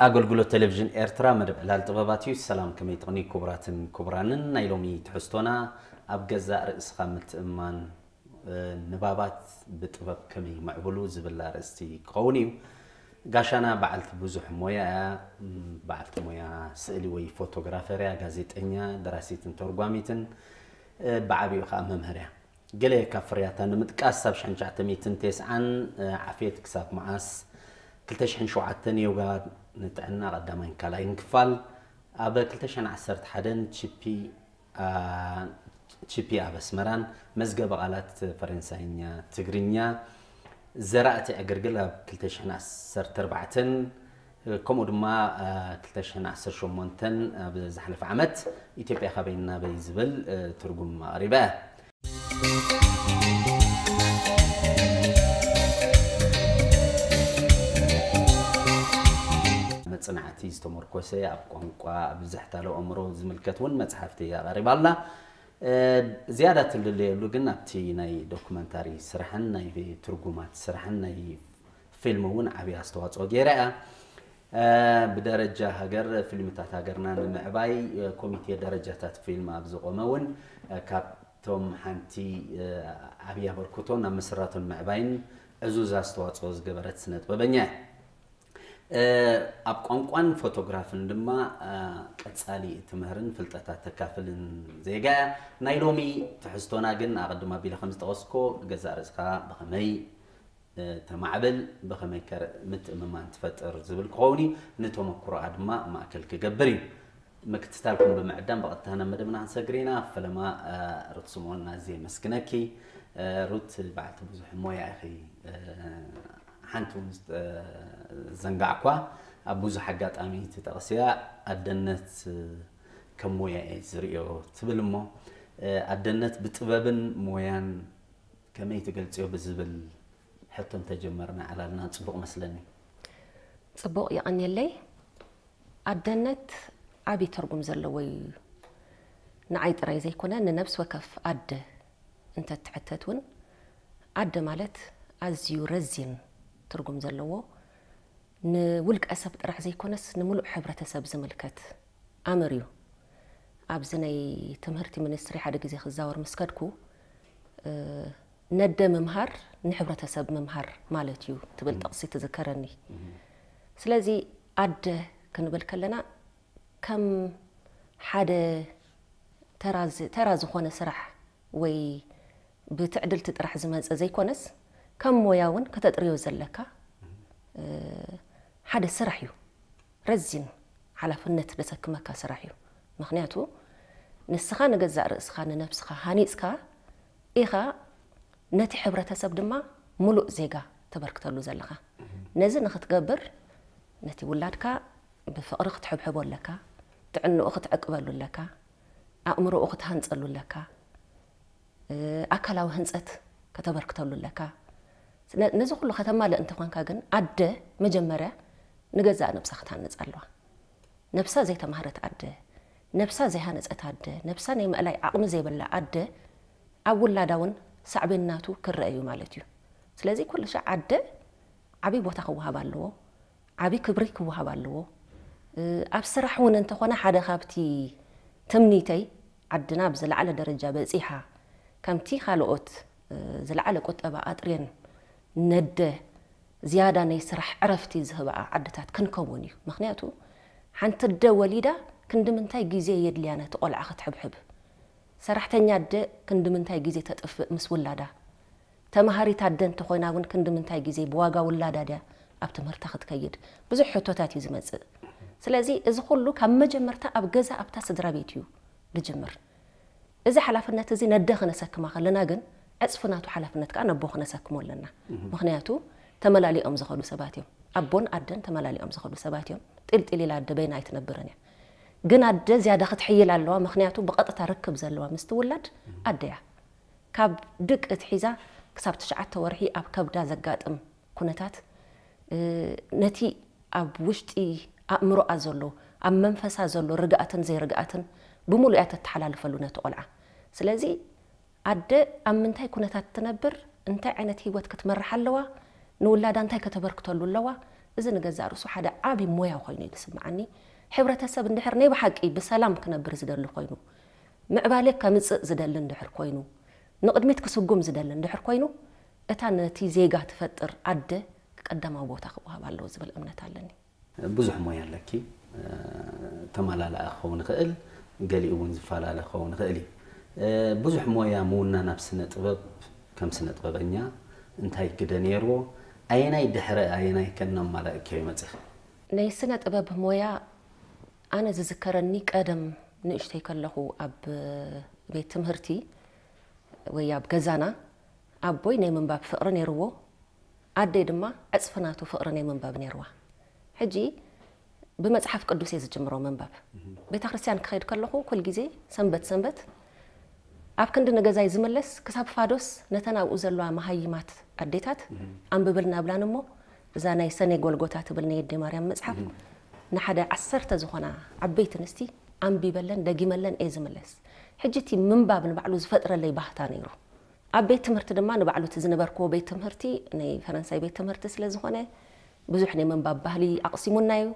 ኣገልግሎት ቴሌቪዥን ኤርትራ መደብ ዕላል ጥበባት እዩ። ሰላም፣ ከመይ ትቕኒ ክቡራትን ክቡራንን? ናይ ሎሚ ትሕዝቶና ኣብ ገዛእ ርእስኻ ምትእምማን፣ እ፣ ንባባት ብጥበብ ከመይ ምዕብሉ ዝብል ኣርእስቲ ክኸውን እዩ። ጋሻና በዓልቲ ብዙሕ ሞያ እያ። ም፣ በዓልቲ ሞያ ስእሊ ወይ ፎቶግራፈር እያ፣ ጋዜጠኛ፣ ደራሲትን ተርጓሚትን፣ እ፣ ብዓቢኡ ከኣ መምህር እያ። ገለ ካብ ፍርያታ ንምጥቃስ፣ ኣብ ሽሕን ትሽዓተ ሚእትን ተስዓን ዓፍየት ክሳብ መዓስ፣ ክልተ ሽሕን ሸውዓተን ዮጋ ንጥዕና ቀዳማይን ካልኣይን ክፋል፣ ኣብ ክልተ ሽሕን ዓሰርተ ሓደን ቺፒ፣ አ፣ ቺፒ ኣብ ኣስመራን መዝገበ ቃላት ፈረንሳይኛ፣ ትግርኛ፣ ዘራእቲ ዕግርግር ኣብ ክልተ ሽሕን ዓሰርተ ኣርባዕተን፣ ከምኡ ድማ፣ አ፣ ክልተ ሽሕን ዓሰርተ ሸሞንተን ኣብ ዝሓለፈ ዓመት ኢትዮጵያ ካበይ ናበይ ዝብል፣ እ፣ ትርጉም ኣቕሪባ እያ። መጽናዕቲ ዝተመርኮሰ ኣብ ቋንቋ፣ ኣብ ብዝሕታለ ኣእምሮ ዝምልከት እውን መጽሓፍቲ ኣቐሪባ ኣላ። እ፣ ዝያዳ ትልለየሉ ግን ኣብቲ ናይ ዶኩመንታሪ ስራሕን ናይ ትርጉማት ስራሕን ናይ ፊልም እውን ዓብዪ ኣስተዋፅኦ ገይራ እያ። እ፣ ብደረጃ ሃገር ፊልምታት ሃገርና ንምዕባይ፣ እ፣ ኮሚቴ ደረጃታት ፊልም ኣብ ዝቖመ እውን፣ እ፣ ካብቶም ሓንቲ፣ እ፣ ዓብዪ ኣበርክቶ ናብ ምስራቱን ምዕባይን ዕዙዝ ኣስተዋፅኦ ዝገበረት ስነ ጥበበኛ እያ። እ፣ ኣብ ቋንቋን ፎቶግራፍን ድማ፣ እ፣ ቀጻሊ እትምህርን ፍልጠታት ተካፍልን ዜጋ እያ። ናይ ሎሚ ትሕዝቶና ግን ኣቐድም ኣቢለ ከም ዝጠቐስኮ፣ ገዛእ ርእስኻ ብኸመይ፣ እ፣ ተማዕብል፣ ብኸመይ ከ ምትእምማን ትፈጥር ዝብል ክኸውን እዩ። ንተመኩሮኣ ድማ ማእከል ክገብር እዩ። ምክትታልኩም ብምዕዳም ብቐጥታ ናብ መደብና ክንሰግር ኢና። ፈለማ፣ እ፣ ሩት ስምኦን ኣዝየ የመስግነኪ። እ፣ ሩት በዓልቲ ብዙሕ ሞያ ኢኺ። እ፣ ሓንቲ እውን ዝጠ-፣ ዘንጋዕኳ፣ ኣብ ብዙሕ ኣጋጣሚ ትጠቕስያ፣ ኣደነት፣ እ፣ ከም ሞያ እየ ዝርእዮ ትብል እሞ፣ እ፣ ኣደነት ብጥበብን ሞያን ከመይ ትገልጽዮ ብዝብል ሕቶ እንተጀመርና ዕላልና ጽቡቕ መስለኒ። ጽቡቕ፣ የቐንየለይ። ኣደነት ዓቢ ትርጉም ዘለዎ እዩ። ንዓይ ጥራይ ዘይኮነ፣ ንነፍሲ ወከፍ ኣደ እንተትሕተት እውን፣ ኣደ ማለት ኣዝዩ ረዚን ትርጉም ዘለዎ፣ ንውልቀ ሰብ ጥራሕ ዘይኮነስ፣ ንምሉእ ሕብረተሰብ ዝምልከት ኣምር እዩ። ኣብዚ ናይ ትምህርቲ ሚኒስትሪ ሓደ ግዜ ክዛወር ምስ ከድኩ፣ እ፣ ነደ ምምሃር ንሕብረተሰብ ምምሃር ማለት እዩ ትብል ጥቕሲ ትዝከረኒ። ስለዚ ኣደ ክንብል ከለና ከም ሓደ ተራ ዝ-፣ ተራ ዝኾነ ስራሕ ወይ ብትዕድልቲ ጥራሕ ዝመጽእ ዘይኮነስ፣ ከም ሞያ እውን ከተጥርዮ ዘለካ፣ እ፣ ሓደ ስራሕ እዩ። ረዚን ሓላፍነት ዘሰክመካ ስራሕ እዩ። ምኽንያቱ ንስኻ ንገዛእ ርእስኻ፣ ንነብስኻ ሃኒጽካ ኢኻ፣ ነቲ ሕብረተሰብ ድማ ምሉእ ዜጋ ተበርክተሉ ዘለኻ። ነዚ ንኽትገብር፣ ነቲ ውላድካ ብፍቕሪ ክትሕብሕቦ ኣለካ፣ ጥዕንኡ ክትዕቅበሉ ኣለካ፣ ኣእምሮኡ ክትሃንጸሉ ኣለካ፣ እ፣ ኣካላዊ ህንጸት ከተበርክተሉ ኣለካ። ነ-፣ ነዚ ኩሉ ከተማልእ እንተኾንካ ግን፣ ኣደ መጀመርያ ንገዛእ ነብሳ ክትሃንጽ ኣለዋ። ነብሳ ዘይተማህረት ኣደ፣ ነብሳ ዘይሃነጸት ኣደ፣ ነብሳ ናይ ምእላይ ዓቕሚ ዘይብላ ኣደ፣ ኣብ ውላዳ እውን ሳዕቤን ናቱ ክረአ እዩ ማለት እዩ። ስለዚ ኩሉ ሻዕ ኣደ ዓብዪ ቦታ ክወሃብ ኣለዎ፣ ዓብዪ ክብሪ ክወሃብ ኣለዎ። እ፣ ኣብ ስራሕ እውን እንተኾነ፣ ሓደ ካብቲ ትምኒተይ፣ ዓድና ኣብ ዝለዓለ ደረጃ በጺሓ፣ ከምቲ ካልኦት፣ እ፣ ዝለዓለ ቁጠባ ኣጥርየን ነደ ዝያዳ ናይ ስራሕ ዕረፍቲ ዝህብኣ ዓድታት ክንከውን እዩ። ምኽንያቱ ሓንቲ ኣደ ወሊዳ ክንዲ ምንታይ ግዜ የድልያ ነቲ ቆልዓ ክትሕብሕብ? ሰራሕተኛ ኣደ ክንዲ ምንታይ ግዜ ተጥፍእ ምስ ውላዳ? ተማሃሪት ኣደ እንተኾይና እውን ክንዲ ምንታይ ግዜ ብዋጋ ውላዳ ድያ ኣብ ትምህርታ ክትከይድ? ብዙሕ ሕቶታት እዩ ዝመጽእ። ስለዚ እዚ ኩሉ ካብ መጀመርታ ኣብ ገዛ ኣብታ ስድራ ቤት እዩ ዝጅምር። እዚ ሓላፍነት እዚ ነደ ክነሰክማ ከለና ግን ዕጽፊ ናቱ ሓላፍነት ከኣ ነቦ ክነሰክሞ ኣለና። ምኽንያቱ ተመላሊኦም ዝኸዱ ሰባት እዮም። ኣቦን ኣደን ተመላሊኦም ዝኸዱ ሰባት እዮም። ጢልጢል ኢላ ኣደ በይና ኣይትነብርን እያ። ግን ኣደ ዝያዳ ክትሕይል ኣለዋ። ምኽንያቱ ብቐጥታ ርክብ ዘለዋ ምስቲ ውላድ ኣደ እያ። ካብ ድቂ ኣትሒዛ ክሳብ ትሽዓተ ወርሒ ኣብ ከብዳ ዘጋጥም ኩነታት፣ እ፣ ነቲ ኣብ ውሽጢ ኣእምሮኣ ዘሎ፣ ኣብ መንፈሳ ዘሎ ርግኣትን ዘይርግኣትን ብምሉእ እያ ተተሓላልፈሉ ነቲ ቆልዓ። ስለዚ ኣደ ኣብ ምንታይ ኩነታት ትነብር፣ እንታይ ዓይነት ህይወት ክትመርሕ ኣለዋ፣ ንውላዳ እንታይ ከተበርክተሉ ኣለዋ፣ እዚ ንገዛእ ርእሱ ሓደ ዓቢ ሞያ ኮይኑ እዩ ዝስምዓኒ። ሕብረተሰብ እንድሕር ናይ ብሓቂ ብሰላም ክነብር ዝደሊ ኮይኑ፣ ምዕባለ ከምጽእ ዝደሊ እንድሕር ኮይኑ፣ ንቕድሚት ክስጉም ዝደሊ እንድሕር ኮይኑ፣ እታ ነቲ ዜጋ ትፈጥር ኣደ ቀዳማዊ ቦታ ክወሃብ ኣለዎ ዝብል እምነት ኣለኒ። ብዙሕ ሞያ ኣለኪ። ተመላላኢ ክኸውን ይኽእል፣ ገሊኡ እውን ዝፈላለ ክኸውን ይኽእል እዩ። ብዙሕ ሞያ ምውናን ኣብ ስነ ጥበብ ከም ስነ ጥበበኛ እንታይ ግደ ነይርዎ? ኣየናይ ድሕረ ኣየናይ ከ እናማላእክዮ መፂኺ? ናይ ስነ ጥበብ ሞያ ኣነ ዝዝከረኒ ቀደም ንእሽተይ ከለኹ ኣብ ቤት ትምህርቲ ወይ ኣብ ገዛና ኣቦይ ናይ ምንባብ ፍቕሪ ነይርዎ፣ ኣደይ ድማ ዕፅፊ ናቱ ፍቕሪ ናይ ምንባብ ነይርዋ። ሕጂ ብመፅሓፍ ቅዱስ እየ ዝጅምሮ ምንባብ። ቤተ ክርስቲያን ክኸይድ ከለኹ ኩል ግዜ ሰንበት ሰንበት ኣብ ክንዲ ንገዛይ ዝምለስ ክሳብ ፋዶስ ነተን ኣብኡ ዘለዋ መሃይማት ኣዴታት ኣንብብልና ብላን እሞ እዛ ናይ ሰኔ ጎልጎታ ትብል ናይ ኣደ ማርያም መፅሓፍ ንሓደ ዓሰርተ ዝኾና ዓበይቲ ኣንስቲ ኣንቢበለን ደጊመለን እየ ዝምለስ። ሕጂ እቲ ምንባብ ንባዕሉ ዝፈጥረለይ ባህታ ነይሩ። ኣብ ቤት ትምህርቲ ድማ ንባዕሉ እቲ ዝነበርክዎ ቤት ትምህርቲ ናይ ፈረንሳይ ቤት ትምህርቲ ስለ ዝኾነ ብዙሕ ናይ ምንባብ ባህሊ ኣቕሲሙና እዩ።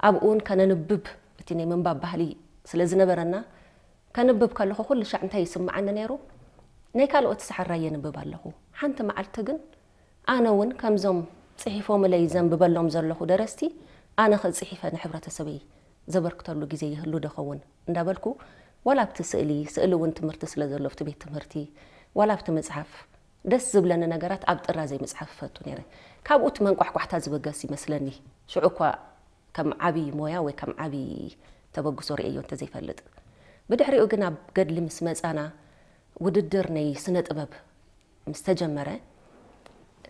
ኣብኡ እውን ከነንብብ እቲ ናይ ምንባብ ባህሊ ስለ ዝነበረና ከንብብ ከለኹ ኩሉ ሻዕ እንታይ ይስምዓኒ ነይሩ? ናይ ካልኦት ሰሓራይ የንብብ ኣለኹ። ሓንቲ መዓልቲ ግን ኣነ እውን ከምዞም ጽሒፎምለይ ዘንብበሎም ዘለኹ ደረስቲ ኣነ ኸ ጽሒፈ ንሕብረተሰበይ ዘበርክተሉ ግዜ ይህሉ ዶ ኸውን እንዳበልኩ ዋላ ኣብቲ ስእሊ፣ ስእሊ እውን ትምህርቲ ስለ ዘሎ ኣብቲ ቤት ትምህርቲ፣ ዋላ ኣብቲ መጽሓፍ ደስ ዝብለኒ ነገራት ኣብ ጥራዘይ ምጽሓፍ እፈቱ ነይረ። ካብኡ እቲ መንቋሕቋሕታ ዝበገስ ይመስለኒ። ሽዑ እኳ ከም ዓቢ ሞያ ወይ ከም ዓቢ ተበግሶ ርእየዮ እንተዘይፈልጥ። ብድሕሪኡ ግን ኣብ ገድሊ ምስ መጻና ውድድር ናይ ስነ ጥበብ ምስ ተጀመረ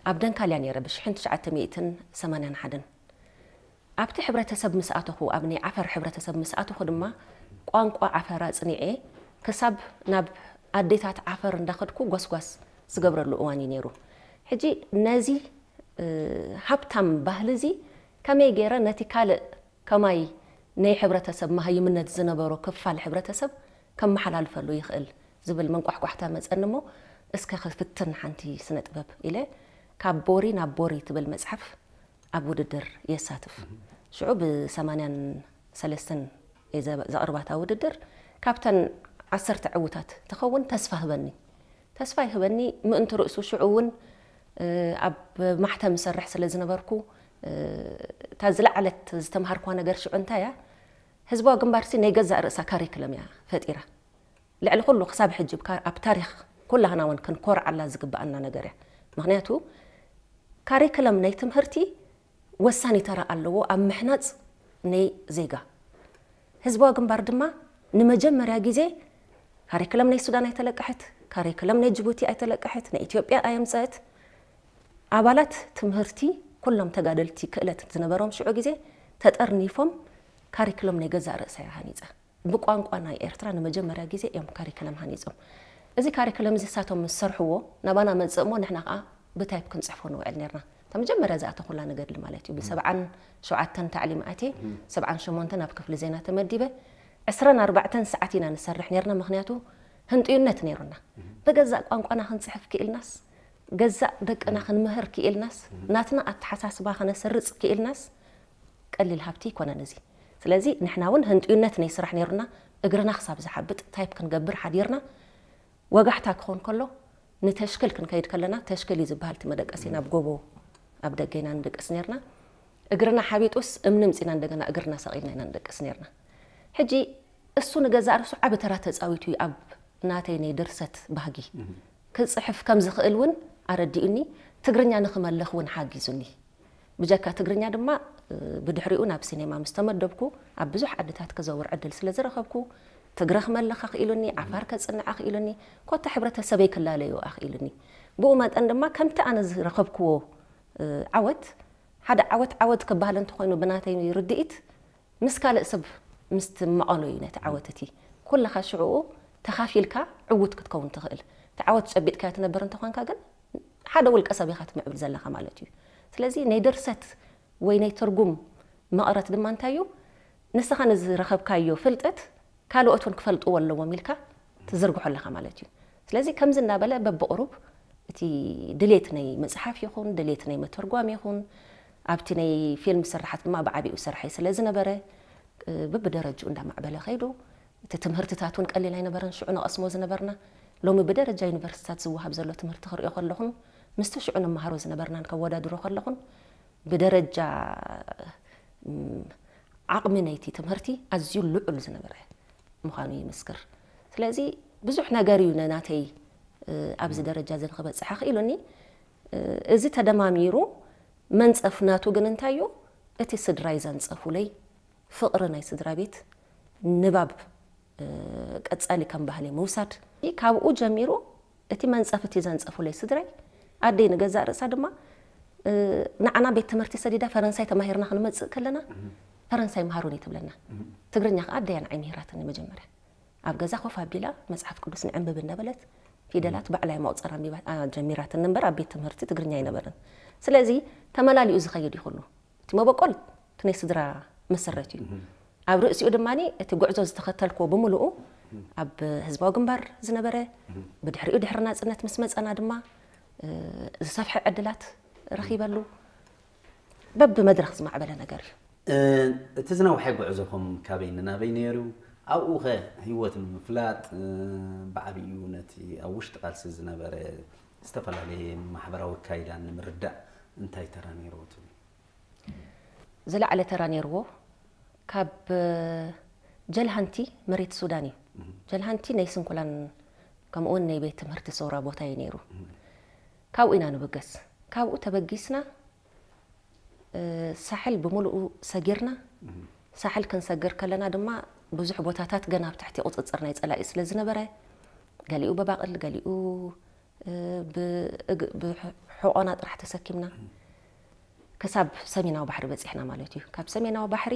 ኣብ ደንካልያ ነይረ ብ1981። ኣብቲ ሕብረተሰብ ምስ ኣተኹ፣ ኣብ ናይ ዓፈር ሕብረተሰብ ምስ ኣተኹ ድማ ቋንቋ ዓፈር ኣጽኒዐ ክሳብ ናብ ኣዴታት ዓፈር እንዳኸድኩ ጎስጓስ ዝገብረሉ እዋን እዩ ነይሩ። ሕጂ ነዚ ሃብታም ባህሊ እዚ ከመይ ገይረ ነቲ ካልእ ከማይ ናይ ሕብረተሰብ መሃይምነት ዝነበሮ ክፋል ሕብረተሰብ ከመሓላልፈሉ ይኽእል ዝብል መንቋሕቋሕታ መጸኒ እሞ እስከ ክፍትን ሓንቲ ስነ ጥበብ ኢለ ካብ ቦሪ ናብ ቦሪ ትብል መጽሓፍ ኣብ ውድድር የሳትፍ። ሽዑ ብ83 እየ ዘቕርባታ ውድድር ካብተን ዓሰርተ ዕውታት ትኸውን ተስፋ ህበኒ። ተስፋ ይህበኒ ምእንቲ ርእሱ ሽዑ እውን ኣብ ማሕተም እሰርሕ ስለ ዝነበርኩ እታ ዝለዓለት ዝተምሃርኳ ነገር ሽዑ እንታይ እያ? ህዝባዊ ግንባርሲ ናይ ገዛእ ርእሳ ካሪክለም እያ ፈጢራ። ልዕሊ ኩሉ ክሳብ ሕጂ ኣብ ታሪኽ ኩላህና እውን ክንኮርዓላ ዝግብኣና ነገር እያ። ምክንያቱ ካሪክለም ናይ ትምህርቲ ወሳኒ ተራ ኣለዎ ኣብ ምሕናፅ ናይ ዜጋ። ህዝባዊ ግንባር ድማ ንመጀመርያ ግዜ ካሪክለም ናይ ሱዳን ኣይተለቀሐት፣ ካሪክለም ናይ ጅቡቲ ኣይተለቀሐት፣ ናይ ኢትዮጵያ ኣየምፀአት። ኣባላት ትምህርቲ ኩሎም ተጋደልቲ ክእለት ዝነበሮም ሽዑ ግዜ ተጠርኒፎም ካሪክሎም ናይ ገዛእ ርእሳ እያ ሃኒፃ። ብቋንቋ ናይ ኤርትራ ንመጀመርያ ግዜ እዮም ካሪክለም ሃኒፆም። እዚ ካሪክለም እዚ እሳቶም ምስ ሰርሕዎ ናባና መፅእ እሞ ንሕና ከዓ ብታይፕ ክንፅሕፎ ንውዕል ነርና። እታ መጀመርያ ዝኣተኹላ ንገድሊ ማለት እዩ። ብ77 ታዕሊም ኣትየ 78 ኣብ ክፍሊ ዜና ተመዲበ 24 ሰዓት ኢና ንሰርሕ ነርና። ምክንያቱ ህንጥዩነት ነይሩና። ብገዛእ ቋንቋና ክንፅሕፍ ክኢልናስ ገዛእ ደቅና ክንምህር ክኢልናስ ናትና ኣተሓሳስባ ከነስርፅ ክኢልናስ ቀሊል ሃብቲ ይኮነን እዚ። ስለዚ ንሕና እውን ህንጥዩነት ናይ ስራሕ ነይሩና እግርና ክሳብ ዝሓብጥ ታይፕ ክንገብር ሓዲርና ወጋሕታ ክኾን ከሎ ንተሽክል ክንከይድ ከለና ተሽክል እዩ ዝበሃል እቲ መደቀሲ ናብ ጎቦ ኣብ ደገ ኢና ንድቅስ ነርና። እግርና ሓቢጡስ እምኒ ምፂና እንደገና እግርና ሰቒልና ኢና ንደቅስ ነርና። ሕጂ እሱ ንገዛእ ርእሱ ዓቢ ተራ ተፃዊቱ እዩ ኣብ ናተይ ናይ ድርሰት ባህጊ። ክፅሕፍ ከም ዝኽእል እውን ኣረዲኡኒ፣ ትግርኛ ንኽመልኽ እውን ሓጊዙኒ። ብጀካ ትግርኛ ድማ ብድሕሪኡ ናብ ሲኔማ ምስ ተመደብኩ ኣብ ብዙሕ ዓድታት ክዘውር ዕድል ስለ ዝረኸብኩ ትግረ ክመልኽ ኣኽኢሉኒ፣ ዓፋር ከፅንዕ ኣኽኢሉኒ፣ ኮታ ሕብረተሰበይ ክላለዮ ኣኽኢሉኒ። ብኡ መጠን ድማ ከምቲ ኣነ ዝረኸብክዎ ዓወት ሓደ ዓወት ዓወት ክበሃል እንተኾይኑ ብናተይ ርድኢት ምስ ካልእ ሰብ ምስ ትመቐሎ እዩ ነቲ ዓወት እቲ ኩልኻ ሽዕኡ ተኻፊልካ ዕዉት ክትከውን ትኽእል። እቲ ዓወት ጨቢጥካዮ ትነብር እንተኾንካ ግን ሓደ ውልቀ ሰብ ኢኻ ትምዕብል ዘለኻ ማለት እዩ። ስለዚ ናይ ድርሰት ወይ ናይ ትርጉም መቐረት ድማ እንታይ እዩ? ንስኻ ንዝረኸብካዮ ፍልጠት ካልኦት እውን ክፈልጥዎ ኣለዎም ኢልካ ትዝርግሖ ኣለኻ ማለት እዩ። ስለዚ ከምዚ እናበለ በብቕሩብ እቲ ድሌት ናይ ምፅሓፍ ይኹን ድሌት ናይ መተርጓም ይኹን ኣብቲ ናይ ፊልም ስርሓት ድማ ብዓቢኡ ሰርሐይ ስለ ዝነበረ፣ እ፣ ብብደረጅኡ እንዳማዕበለ ከይዱ። እቲ ትምህርትታት እውን ቀሊል ኣይነበረን፣ ሽዑ ንቐስሞ ዝነበርና። ሎሚ ብደረጃ ዩኒቨርሲቲታት ዝወሃብ ዘሎ ትምህርቲ ክሪኦ ከለኹን፣ ምስቲ ሽዑ ንመሃሮ ዝነበርናን ከወዳድሮ ከለኹን፣ ብደረጃ፣ እም፣ ዓቕሚ ናይቲ ትምህርቲ ኣዝዩ ልዑል ዝነበረ ምዃኑ ይምስክር። ስለዚ ብዙሕ ነገር እዩ ንናተይ፣ እ፣ ኣብዚ ደረጃ እዚ ንክበጽሕ ኣኽኢሉኒ። እ፣ እዚ ተደማሚሩ መንጸፍ ናቱ ግን እንታይ እዩ? እቲ ስድራይ ዘንጸፉለይ ፍቕሪ ናይ ስድራ ቤት፣ ንባብ፣ እ፣ ቀጻሊ ከም ባህሊ ምውሳድ። ካብኡ ጀሚሩ እቲ መንጸፍ እቲ ዘንጸፉለይ ስድራይ፣ ኣደይ ንገዛእ ርእሳ ድማ፣ እ፣ ንዓና ቤት ትምህርቲ ሰዲዳ ፈረንሳይ ተማሂርና ክንመጽእ ከለና፣ "ፈረንሳይ መሃሩኒ" ትብለና። ትግርኛ ከኣ ኣደይ እያ ንዓይ ምሂራትኒ መጀመርያ። ኣብ ገዛ ኮፍ ኣቢላ መጽሓፍ ቅዱስ ንዕንብብ እናበለት ፊደላት ባዕላ እያ መቑጸር ኣንቢባ፣ ኣ፣ ጀሚራትኒ እምበር ኣብ ቤት ትምህርቲ ትግርኛ ኣይነበረን። ስለዚ ተመላሊኡ ዝኸይድ እዩ ኩሉ። እቲ መበቆል እቲ ናይ ስድራ መሰረት እዩ። ኣብ ርእሲኡ ድማ እቲ ጉዕዞ ዝተኸተልክዎ ብምሉኡ ኣብ ህዝባዊ ግንባር ዝነበረ፣ ብድሕሪኡ ድሕሪ ናጽነት ምስ መጸና ድማ፣ እ፣ ዝሰፍሐ ዕድላት ረኺበሉ። በብመድረኽ ዝማዕበለ ነገር እዩ። እ፣ እቲ ዝነውሐ ጉዕዞኹም ካበይ ንናበይ ነይሩ? ኣብኡ ኸ ህይወት ንምፍላጥ፣ እ፣ ብዓቢኡ ነቲ ኣብ ውሽጢ ቃልሲ ዝነበረ ዝተፈላለየ ማሕበራዊ ኣካይዳ ንምርዳእ እንታይ ተራ ነይርዎ ትብሉ? ዝለዓለ ተራ ነይርዎ ካብ፣ እ፣ ጀልሃንቲ መሬት ሱዳን እዩ። ጀልሃንቲ ናይ ስንኩላን ከምኡውን ናይ ቤት ትምህርቲ ሰውራ ቦታ እዩ ነይሩ። ካብኡ ኢና ንብገስ። ካብኡ ተበጊስና፣ እ፣ ሳሕል ብምሉኡ ሰጊርና። ሳሕል ክንሰግር ከለና ድማ ብዙሕ ቦታታት ገና ኣብ ትሕቲ ቁጽጽር ናይ ጸላኢ ስለ ዝነበረ፣ ገሊኡ በባቕል፣ ገሊኡ፣ እ፣ ብእግ-፣ ብሕቆና ጥራሕ ተሰኪምና ክሳብ ሰሜናዊ ባሕሪ በጺሕና ማለት እዩ። ካብ ሰሜናዊ ባሕሪ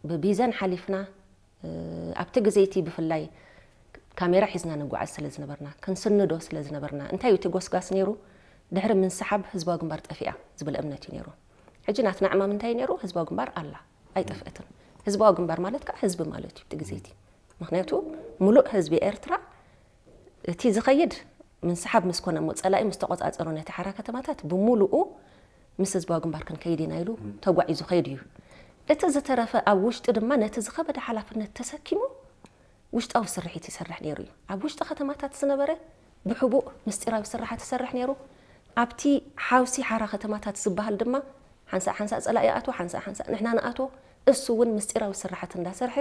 ብቢዘን ሓሊፍና፣ እ፣ ኣብቲ ግዜ እቲ ብፍላይ ካሜራ ሒዝና ንጓዓዝ ስለ ዝነበርና፣ ክንስንዶ ስለ ዝነበርና፣ እንታይ እዩ እቲ ጎስጋስ ነይሩ? ድሕሪ ምንስሓብ ህዝባዊ ግንባር ጠፊኣ ዝብል እምነት እዩ ነይሩ። ሕጂ ናትና ዕማም እንታይ እዩ ነይሩ? ህዝባዊ ግንባር ኣላ፣ ኣይጠፍአትን። ህዝባዊ ግንባር ማለት ከዓ ህዝቢ ማለት እዩ እቲ ግዜ እቲ። ምኽንያቱ ምሉእ ህዝቢ ኤርትራ እቲ ዝኸይድ ምንስሓብ ምስ ኮነ እሞ፣ ጸላኢ ምስ ተቖጻጸሮ ነቲ ሓራ ከተማታት ብምሉኡ ምስ ህዝባዊ ግንባር ክንከይድ ኢና ኢሉ ተጓዒዙ ከይዱ እዩ። እቲ ዝተረፈ ኣብ ውሽጢ ድማ ነቲ ዝኸበደ ሓላፍነት ተሰኪሙ ውሽጣዊ ስርሒት ይሰርሕ ነይሩ እዩ። ኣብ ውሽጢ ከተማታት ዝነበረ ብሕቡእ ምስጢራዊ ስርሓት ይሰርሕ ነይሩ። ኣብቲ ሓውሲ ሓራ ከተማታት ዝበሃል ድማ ሓንሳእ ሓንሳእ ጸላኢ ይኣትዎ፣ ሓንሳእ ሓንሳእ ንሕና ንኣትዎ። እሱ እውን ምስጢራዊ ስርሓት እንዳሰርሐ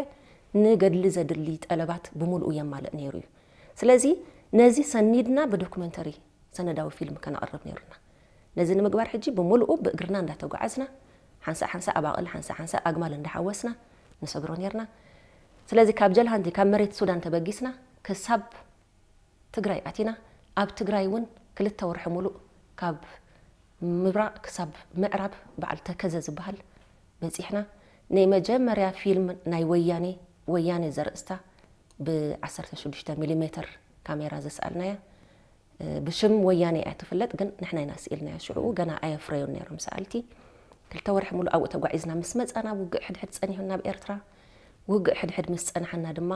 ንገድሊ ዘድሊ ጠለባት ብምሉኡ የማልእ ነይሩ እዩ። ስለዚ ነዚ ሰኒድና ብዶኩመንተሪ ሰነዳዊ ፊልም ከነቕርብ ነይሩና። ነዚ ንምግባር ሕጂ ብምሉኡ ብእግርና እንዳተጓዓዝና፣ ሓንሳእ ሓንሳእ ኣባቕል፣ ሓንሳእ ሓንሳእ ኣግማል እንዳሓወስና ንሰግሮ ነይርና። ስለዚ ካብ ጀልሃንቲ፣ ካብ መሬት ሱዳን ተበጊስና ክሳብ ትግራይ ኣቲና፣ ኣብ ትግራይ እውን ክልተ ወርሒ ሙሉእ ካብ ምብራቕ ክሳብ ምዕራብ በዓል ተከዘ ዝበሃል በጺሕና። ናይ መጀመርያ ፊልም ናይ ወያኔ፣ ወያኔ ዘርእስታ ብ ዓሰርተ ሽዱሽተ ሚሊሜትር ካሜራ ዘስኣልናያ። እ፣ ብሽም ወያኔ እያ ትፍለጥ፣ ግን ንሕና ኢና ስኢልናያ። ሽዑ ገና ኣየፍረዩን ነይሮም ሰኣልቲ። ክልተ ወርሒ ሙሉእ ኣብኡ ተጓዒዝና ምስ መጻና፣ ውግእ ሕድሕድ ጸኒሑና ኣብ ኤርትራ። ውግእ ሕድሕድ ምስ ጸንሓና ድማ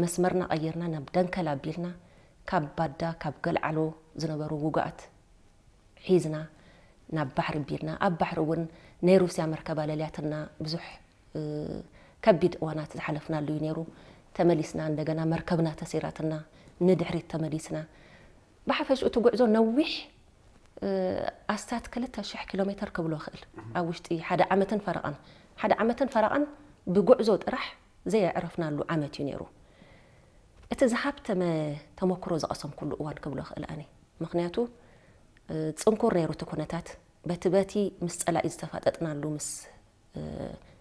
መስመርና ቀይርና ናብ ደንከል ኣቢልና፣ ካብ ባዳ፣ ካብ ገልዓሎ ዝነበሩ ውጉኣት ሒዝና ናብ ባሕሪ ኣቢልና፣ ኣብ ባሕሪ እውን ናይ ሩስያ መርከብ ኣለልያትና ብዙሕ፣ እ፣ ከቢድ እዋናት ዝሓለፍናሉ እዩ ነይሩ። ተመሊስና እንደገና መርከብና ተሰይራትና ንድሕሪት ተመሊስና። ብሓፈሽኡ እቲ ጉዕዞ ነዊሕ፣ እ፣ ኣስታት ክልተ ሽሕ ኪሎ ሜትር ክብሎ እኽእል። ኣብ ውሽጢ ሓደ ዓመትን ፈረቓን፣ ሓደ ዓመትን ፈረቓን ብጉዕዞ ጥራሕ ዘየዕረፍናሉ ዓመት እዩ ነይሩ። እቲ ዝሃብተመ ተመክሮ ዝቐሰምኩሉ እዋን ክብሎ እኽእል ኣነ። ምኽንያቱ፣ እ፣ ጽንኩር ነይሩ እቲ ኩነታት። በቲ በቲ ምስ ጸላኢ ዝተፋጠጥናሉ፣ ምስ፣ እ፣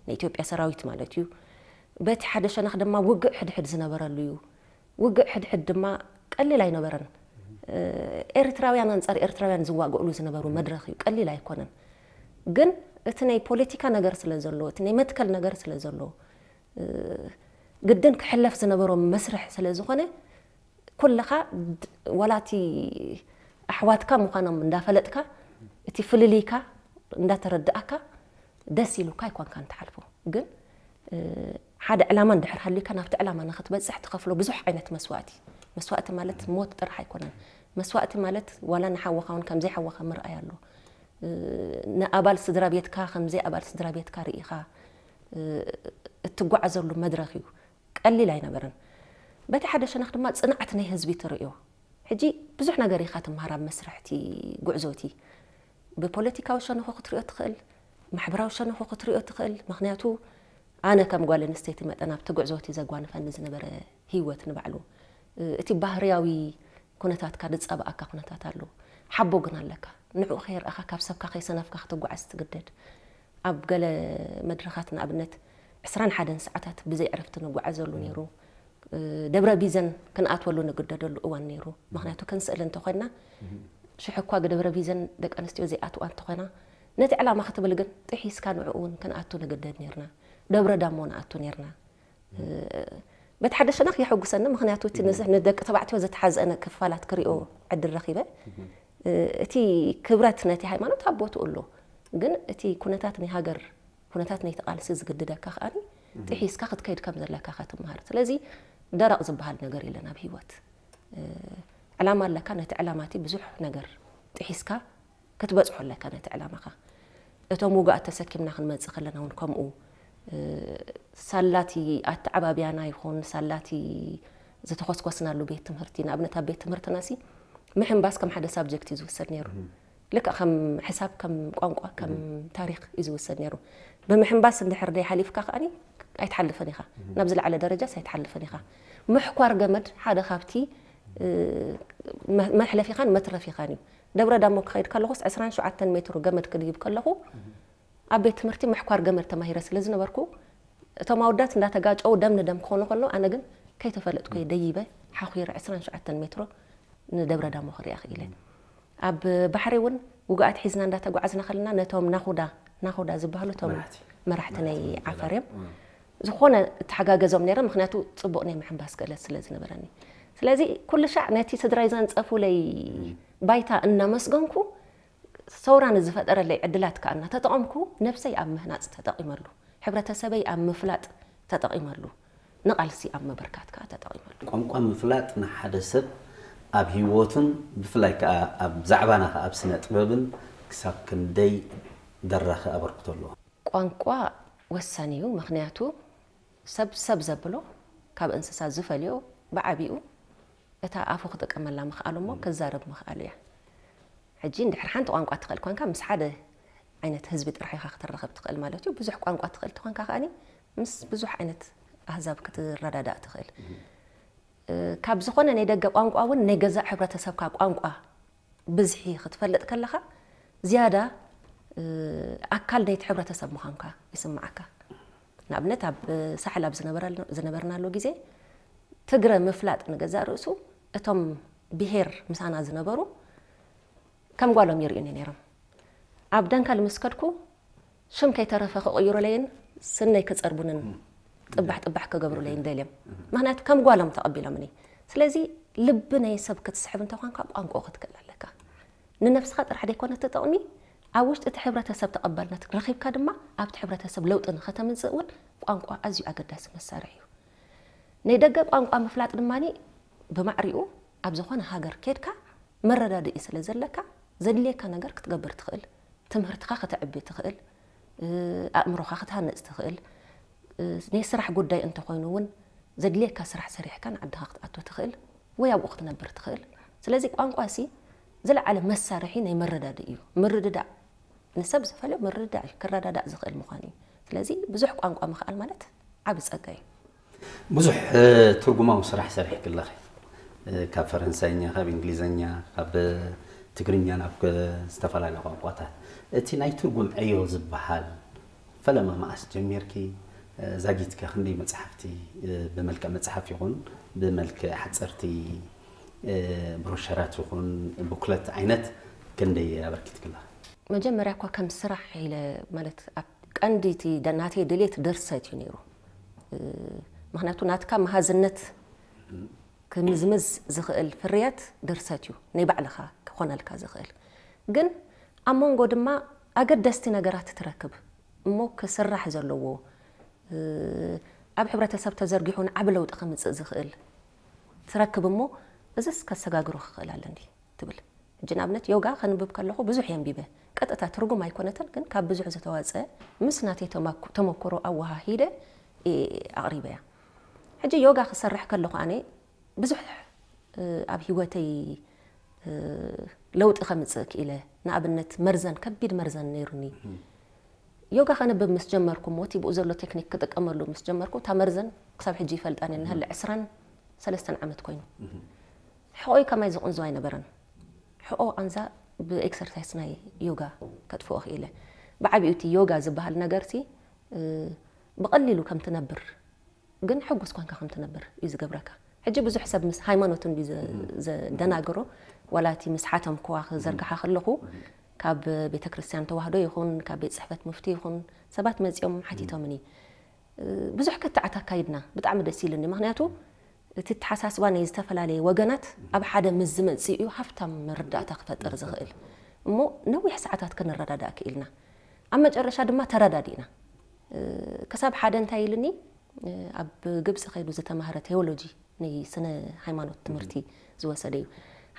ናይ ኢትዮጵያ ሰራዊት ማለት እዩ። በቲ ሓደ ሸነኽ ድማ ውግእ ሕድሕድ ዝነበረሉ እዩ። ውግእ ሕድሕድ ድማ ቀሊል ኣይነበረን። እ፣ ኤርትራውያን ኣንጻር ኤርትራውያን ዝዋግእሉ ዝነበሩ መድረኽ እዩ። ቀሊል ኣይኮነን። ግን እቲ ናይ ፖለቲካ ነገር ስለ ዘሎ፣ እቲ ናይ መትከል ነገር ስለ ዘሎ፣ እ፣ ግድን ክሕለፍ ዝነበሮ መስርሕ ስለ ዝኾነ፣ ኩልኻ ድ-፣ ዋላ እቲ ኣሕዋትካ ምዃኖም እንዳፈለጥካ፣ እቲ ፍልልይካ እንዳተረዳእካ፣ ደስ ኢሉካ ኣይኮንካን ትሓልፎ። ግን፣ እ፣ ሓደ ዕላማ እንድሕር ሃልዩካ፣ ናብቲ ዕላማ ንኽትበጽሕ ትኸፍሎ ብዙሕ ዓይነት መስዋእቲ። መስዋእቲ ማለት ሞት ጥራሕ ኣይኮነን። መስዋእቲ ማለት ዋላ ንሓወኻ እውን ከም ዘይሓወኻ ምርኣይ ኣሎ። ንኣባል ስድራ ቤትካ ከምዘይ ኣባል ስድራ ቤትካ ርኢኻ እትጓዓዘሉ መድረኽ እዩ። ቀሊል ኣይነበረን። በቲ ሓደ ሸነኽ ድማ ጽንዓት ናይ ህዝቢ ትርእዮ። ሕጂ ብዙሕ ነገር ኢኻ ትምሃር ኣብ መስርሕቲ ጉዕዞቲ። ብፖለቲካዊ ሸነኹ ክትሪኦ ትኽእል፣ ማሕበራዊ ሸነኹ ክትሪኦ ትኽእል። ምኽንያቱ ኣነ ከም ጓል ኣንስተይቲ መጠን ኣብቲ ጉዕዞቲ ዘጓንፈኒ ዝነበረ ህይወት ንባዕሉ እቲ ባህርያዊ ኩነታትካ ዝጻባኣካ ኩነታት ኣሎ። ሓቦ ግን ኣለካ። ንዕኡ ከየርኣኻ ካብ ሰብካ ከይሰነፍካ ክትጓዓዝ ትግደድ። ኣብ ገለ መድረኻት ንኣብነት ዕስራን ሓደን ሰዓታት ብዘይ ዕረፍቲ ንጓዓዘሉ ነይሩ። ደብረ ቢዘን ክንኣትወሉ ንግደደሉ እዋን ነይሩ። ምኽንያቱ ክንስእል እንተኾይና ሽሕ እኳ ደብረ ቢዘን ደቂ ኣንስትዮ ዘይኣትዋ እንተኾይና ነቲ ዕላማ ክትብል ግን ጥሒስካ ንዕኡ እውን ክንኣቱ ንግደድ ነይርና። ደብረ ዳሞ ንኣቱ ነይርና። በቲ ሓደ ሸነኽ የሐጉሰኒ፣ ምኽንያቱ እቲ ንስ- ንደቂ ተባዕትዮ ዝተሓዘነ ክፋላት ክሪኦ ዕድል ረኺበ። እቲ ክብረት ነቲ ሃይማኖት ኣብ ቦትኡ ኣሎ፣ ግን እቲ ኩነታት ናይ ሃገር ኩነታት ናይቲ ቃልሲ ዝግድደካ ከኣ ጥሒስካ ክትከይድ ከም ዘለካ ኢኻ ትምሃር። ስለዚ ደረቕ ዝበሃል ነገር የለን ኣብ ህይወት። ዕላማ ኣለካ፣ ነቲ ዕላማቲ ብዙሕ ነገር ጥሒስካ ክትበጽሖ ኣለካ ነቲ ዕላማኻ። እቶም ውጉኣት ተሰኪምና ክንመጽእ ከለና እውን ከምኡ ሳላቲ ኣተዓባብያና ይኹን ሳላቲ ዝተኾስኮስናሉ ቤት ትምህርቲ፣ ንኣብነት ኣብ ቤት ትምህርትና ሲ ምሕንባስ ከም ሓደ ሳብጀክት እዩ ዝውሰድ ነይሩ። ልክዕ ከም ሕሳብ፣ ከም ቋንቋ፣ ከም ታሪኽ እዩ ዝውሰድ ነይሩ። ብምሕንባስ እንድሕር ደይ ሓሊፍካ ከኣኒ ኣይትሓልፍን ኢኻ፣ ናብ ዝለዓለ ደረጃስ ኣይትሓልፍን ኢኻ። ምሕኳር ገመድ ሓደ ካብቲ መሕለፊኻን መትረፊኻን እዩ። ደብረ ዳሞ ክኸይድ ከለኹስ ዕስራን ሸውዓተን ሜትሮ ገመድ ክድይብ ከለኹ ኣብ ቤት ትምህርቲ ምሕኳር ገመድ ተማሂረ ስለ ዝነበርኩ እቶም ኣወዳት እንዳተጋጨው ደም ንደም ክኾኑ ከሎ ኣነ ግን ከይተፈለጥኩ ደይበ ሓኺረ ዕስራን ሸውዓተን ሜትሮ ንደብረ ዳሞ ክሪኣ ክኢለ። ኣብ ባሕሪ እውን ውግኣት ሒዝና እንዳተጓዓዝና ከለና ነቶም ናኹዳ ናኹዳ ዝበሃሉ እቶም መራሕቲ ናይ ዓፈር እዮም። ዝኾነ እተሓጋገዞም ነይረ፣ ምኽንያቱ ጽቡቕ ናይ ምሕንባስ ክእለት ስለ ዝነበረኒ። ስለዚ ኩሉ ሻዕ ነቲ ስድራይ ዘንጸፉለይ ባይታ እናመስገንኩ ሰውራ ንዝፈጠረለይ ዕድላት ከኣ እናተጠቐምኩ ነብሰይ ኣብ ምህናጽ ተጠቒመሉ፣ ሕብረተሰበይ ኣብ ምፍላጥ ተጠቒመሉ፣ ንቓልሲ ኣብ ምብርካት ከኣ ተጠቒመሉ። ቋንቋ ምፍላጥ ንሓደ ሰብ ኣብ ህይወቱን ብፍላይ ከኣ ኣብ ዛዕባና ከኣ ኣብ ስነ ጥበብን ክሳብ ክንደይ ደራኺ ኣበርክቶ ኣለዎ? ቋንቋ ወሳኒ እዩ። ምኽንያቱ ሰብ ሰብ ዘብሎ ካብ እንስሳ ዝፈልዮ ብዓቢኡ እታ ኣፉ ክጥቀመላ ምኽኣሉ እሞ ክዛረብ ምኽኣሉ እያ። ሕጂ እንድሕር ሓንቲ ቋንቋ ትኽእል ኮንካ ምስ ሓደ ዓይነት ህዝቢ ጥራሕ ኢኻ ክትራኸብ ትኽእል ማለት እዩ። ብዙሕ ቋንቋ ትኽእል ተኾንካ ከኣኒ ምስ ብዙሕ ዓይነት ኣህዛብ ክትረዳዳእ ትኽእል። ካብ ዝኾነ ናይ ደገ ቋንቋ እውን ናይ ገዛእ ሕብረተሰብካ ቋንቋ ብዝሒ ክትፈልጥ ከለኻ ዝያዳ ኣካል ናይቲ ሕብረተሰብ ምዃንካ ይስምዓካ። ንኣብነት ኣብ ሳሕል ኣብ ዝነበርናሉ ግዜ ትግረ ምፍላጥ ንገዛእ ርእሱ እቶም ብሄር ምሳና ዝነበሩ ከም ጓሎም ይርእዩኒ ነይሮም። ኣብ ደንከል ምስ ከድኩ ሽም ከይተረፈ ክቕይሩለይን ስነይ ክጸርቡንን ጥባሕ ጥባሕ ክገብሩለይን ደልዮም። ምኽንያቱ ከም ጓሎም ተቐቢሎምኒ። ስለዚ ልቢ ናይ ሰብ ክትስሕብ እንተኾንካ ቋንቋ ክትክእል ኣለካ። ንነብስኻ ጥራሕ ዘይኮነ ተጠቕሚ ኣብ ውሽጢ እቲ ሕብረተሰብ ተቐባልነት ረኺብካ ድማ ኣብቲ ሕብረተሰብ ለውጢ ንኸተምጽእ እውን ቋንቋ ኣዝዩ ኣገዳሲ መሳርሒ እዩ። ናይ ደገ ቋንቋ ምፍላጥ ድማ ብማዕሪኡ ኣብ ዝኾነ ሃገር ኬድካ መረዳድኢ ስለ ዘለካ ዘድልየካ ነገር ክትገብር ትኽእል፣ ትምህርትኻ ከተዕቢ ትኽእል፣ ኣእምሮኻ ክትሃንጽ ትኽእል፣ ናይ ስራሕ ጉዳይ እንተኾይኑ እውን ዘድልየካ ስራሕ ሰሪሕካ ንዓድኻ ክትኣቱ ትኽእል ወይ ኣብኡ ክትነብር ትኽእል። ስለዚ ቋንቋ ሲ ዝለዓለ መሳርሒ ናይ መረዳድኢ እዩ። ምርድዳእ ንሰብ ዝፈልዮ ምርድዳእ እዩ፣ ክረዳዳእ ዝኽእል ምዃን እዩ። ስለዚ ብዙሕ ቋንቋ ምኽኣል ማለት ዓቢ ጸጋ እዩ። ብዙሕ ትርጉማዊ ስራሕ ሰሪሕኪ ኣለኺ። ካብ ፈረንሳይኛ፣ ካብ እንግሊዝኛ፣ ካብ ትግርኛ ናብ ዝተፈላለዩ ቋንቋታት። እቲ ናይ ትርጉም ዕዮ ዝበሃል ፈለማ መዓስ ጀሚርኪ? ዛጊትከ ክንደይ መጽሓፍቲ ብመልክዕ መጽሓፍ ይኹን ብመልክዕ ሓጸርቲ ብሮሸራት ይኹን ቡክለት ዓይነት ክንደይ ኣበርኪትክላ? መጀመርያ እኳ ከም ስራሕ ኢለ ማለት ኣብ ቀንዲ እቲ ደ- ናተይ ድሌት ድርሰት እዩ ነይሩ። ምኽንያቱ ናትካ መሃዝነት ክምዝምዝ ዝኽእል ፍርያት ድርሰት እዩ፣ ናይ ባዕልኻ ክኾነልካ ዝኽእል። ግን ኣብ መንጎ ድማ ኣገደስቲ ነገራት ትረክብ እሞ ክስራሕ ዘለዎ ኣብ ሕብረተሰብ ተዘርጊሑ ንዓቢ ለውጢ ከምጽእ ዝኽእል ትረክብ እሞ እዝስ ከሰጋግሮ ክኽእል ኣለኒ ትብል። ሕጂ ንኣብነት ዮጋ ከንብብ ከለኹ ብዙሕ የንቢበ። ቀጥታ ትርጉም ኣይኮነትን፣ ግን ካብ ብዙሕ ዝተዋጸ ምስ ናተይ ተማኩ-፣ ተመክሮ ኣወሃሂደ እየ ኣቕሪበያ። ሕጂ ዮጋ ክሰርሕ ከለኹ ኣነ ብዙሕ፣ እ፣ ኣብ ህይወተይ፣ እ፣ ለውጢ ከምጽእ ክኢለ። ንኣብነት መርዘን፣ ከቢድ መርዘን ነይሩኒ። ዮጋ ከንብብ ምስ ጀመርኩ እሞ እቲ ብኡ ዘሎ ቴክኒክ ክጥቀመሉ ምስ ጀመርኩ እታ መርዘን ክሳብ ሕጂ ይፈልጣን እየ። ንሃለ ዕስራን ሰለስተን ዓመት ኮይኑ። ሕቖይ ከማይ ዝቕንዞ ኣይነበረን። ሕቖ ቃንዛ ብኤክሰርሳይስ ናይ ዮጋ ከጥፍኦ ክኢለ። ብዓቢኡ እቲ ዮጋ ዝበሃል ነገርሲ፣ እ፣ ብቐሊሉ ከም ትነብር፣ ግን ሕጉስ ኮንካ ከም ትነብር እዩ ዝገብረካ። ሕጂ ብዙሕ ሰብ ምስ ሃይማኖት እንዲ ዘ-፣ ዘደናግሮ፣ ዋላ እቲ ምስ ሓተምክዋ ክዘርግሓ ከለኹ፣ ካብ ቤተ ክርስቲያን ተዋህዶ ይኹን፣ ካብ ቤት ጽሕፈት ሙፍቲ ይኹን፣ ሰባት መጺኦም ሓቲቶምኒ። እ፣ ብዙሕ ክትዓት ኣካይድና፣ ብጣዕሚ ደስ ኢሉኒ። ምኽንያቱ እቲ ኣተሓሳስባ ናይ ዝተፈላለየ ወገናት ኣብ ሓደ ምስ ዝመጽእ እዩ ሃፍታም መረዳእታ ክፈጥር ዝኽእል። እሞ ነዊሕ ሰዓታት ክንረዳዳእ ክኢልና። ኣብ መጨረሻ ድማ ተረዳዲእና። እ፣ ክሳብ ሓደ እንታይ ኢሉኒ፣ እ፣ ኣብ ግብጺ ከይዱ ዝተማህረ ቴዎሎጂ፣ ናይ ስነ ሃይማኖት ትምህርቲ ዝወሰደ እዩ።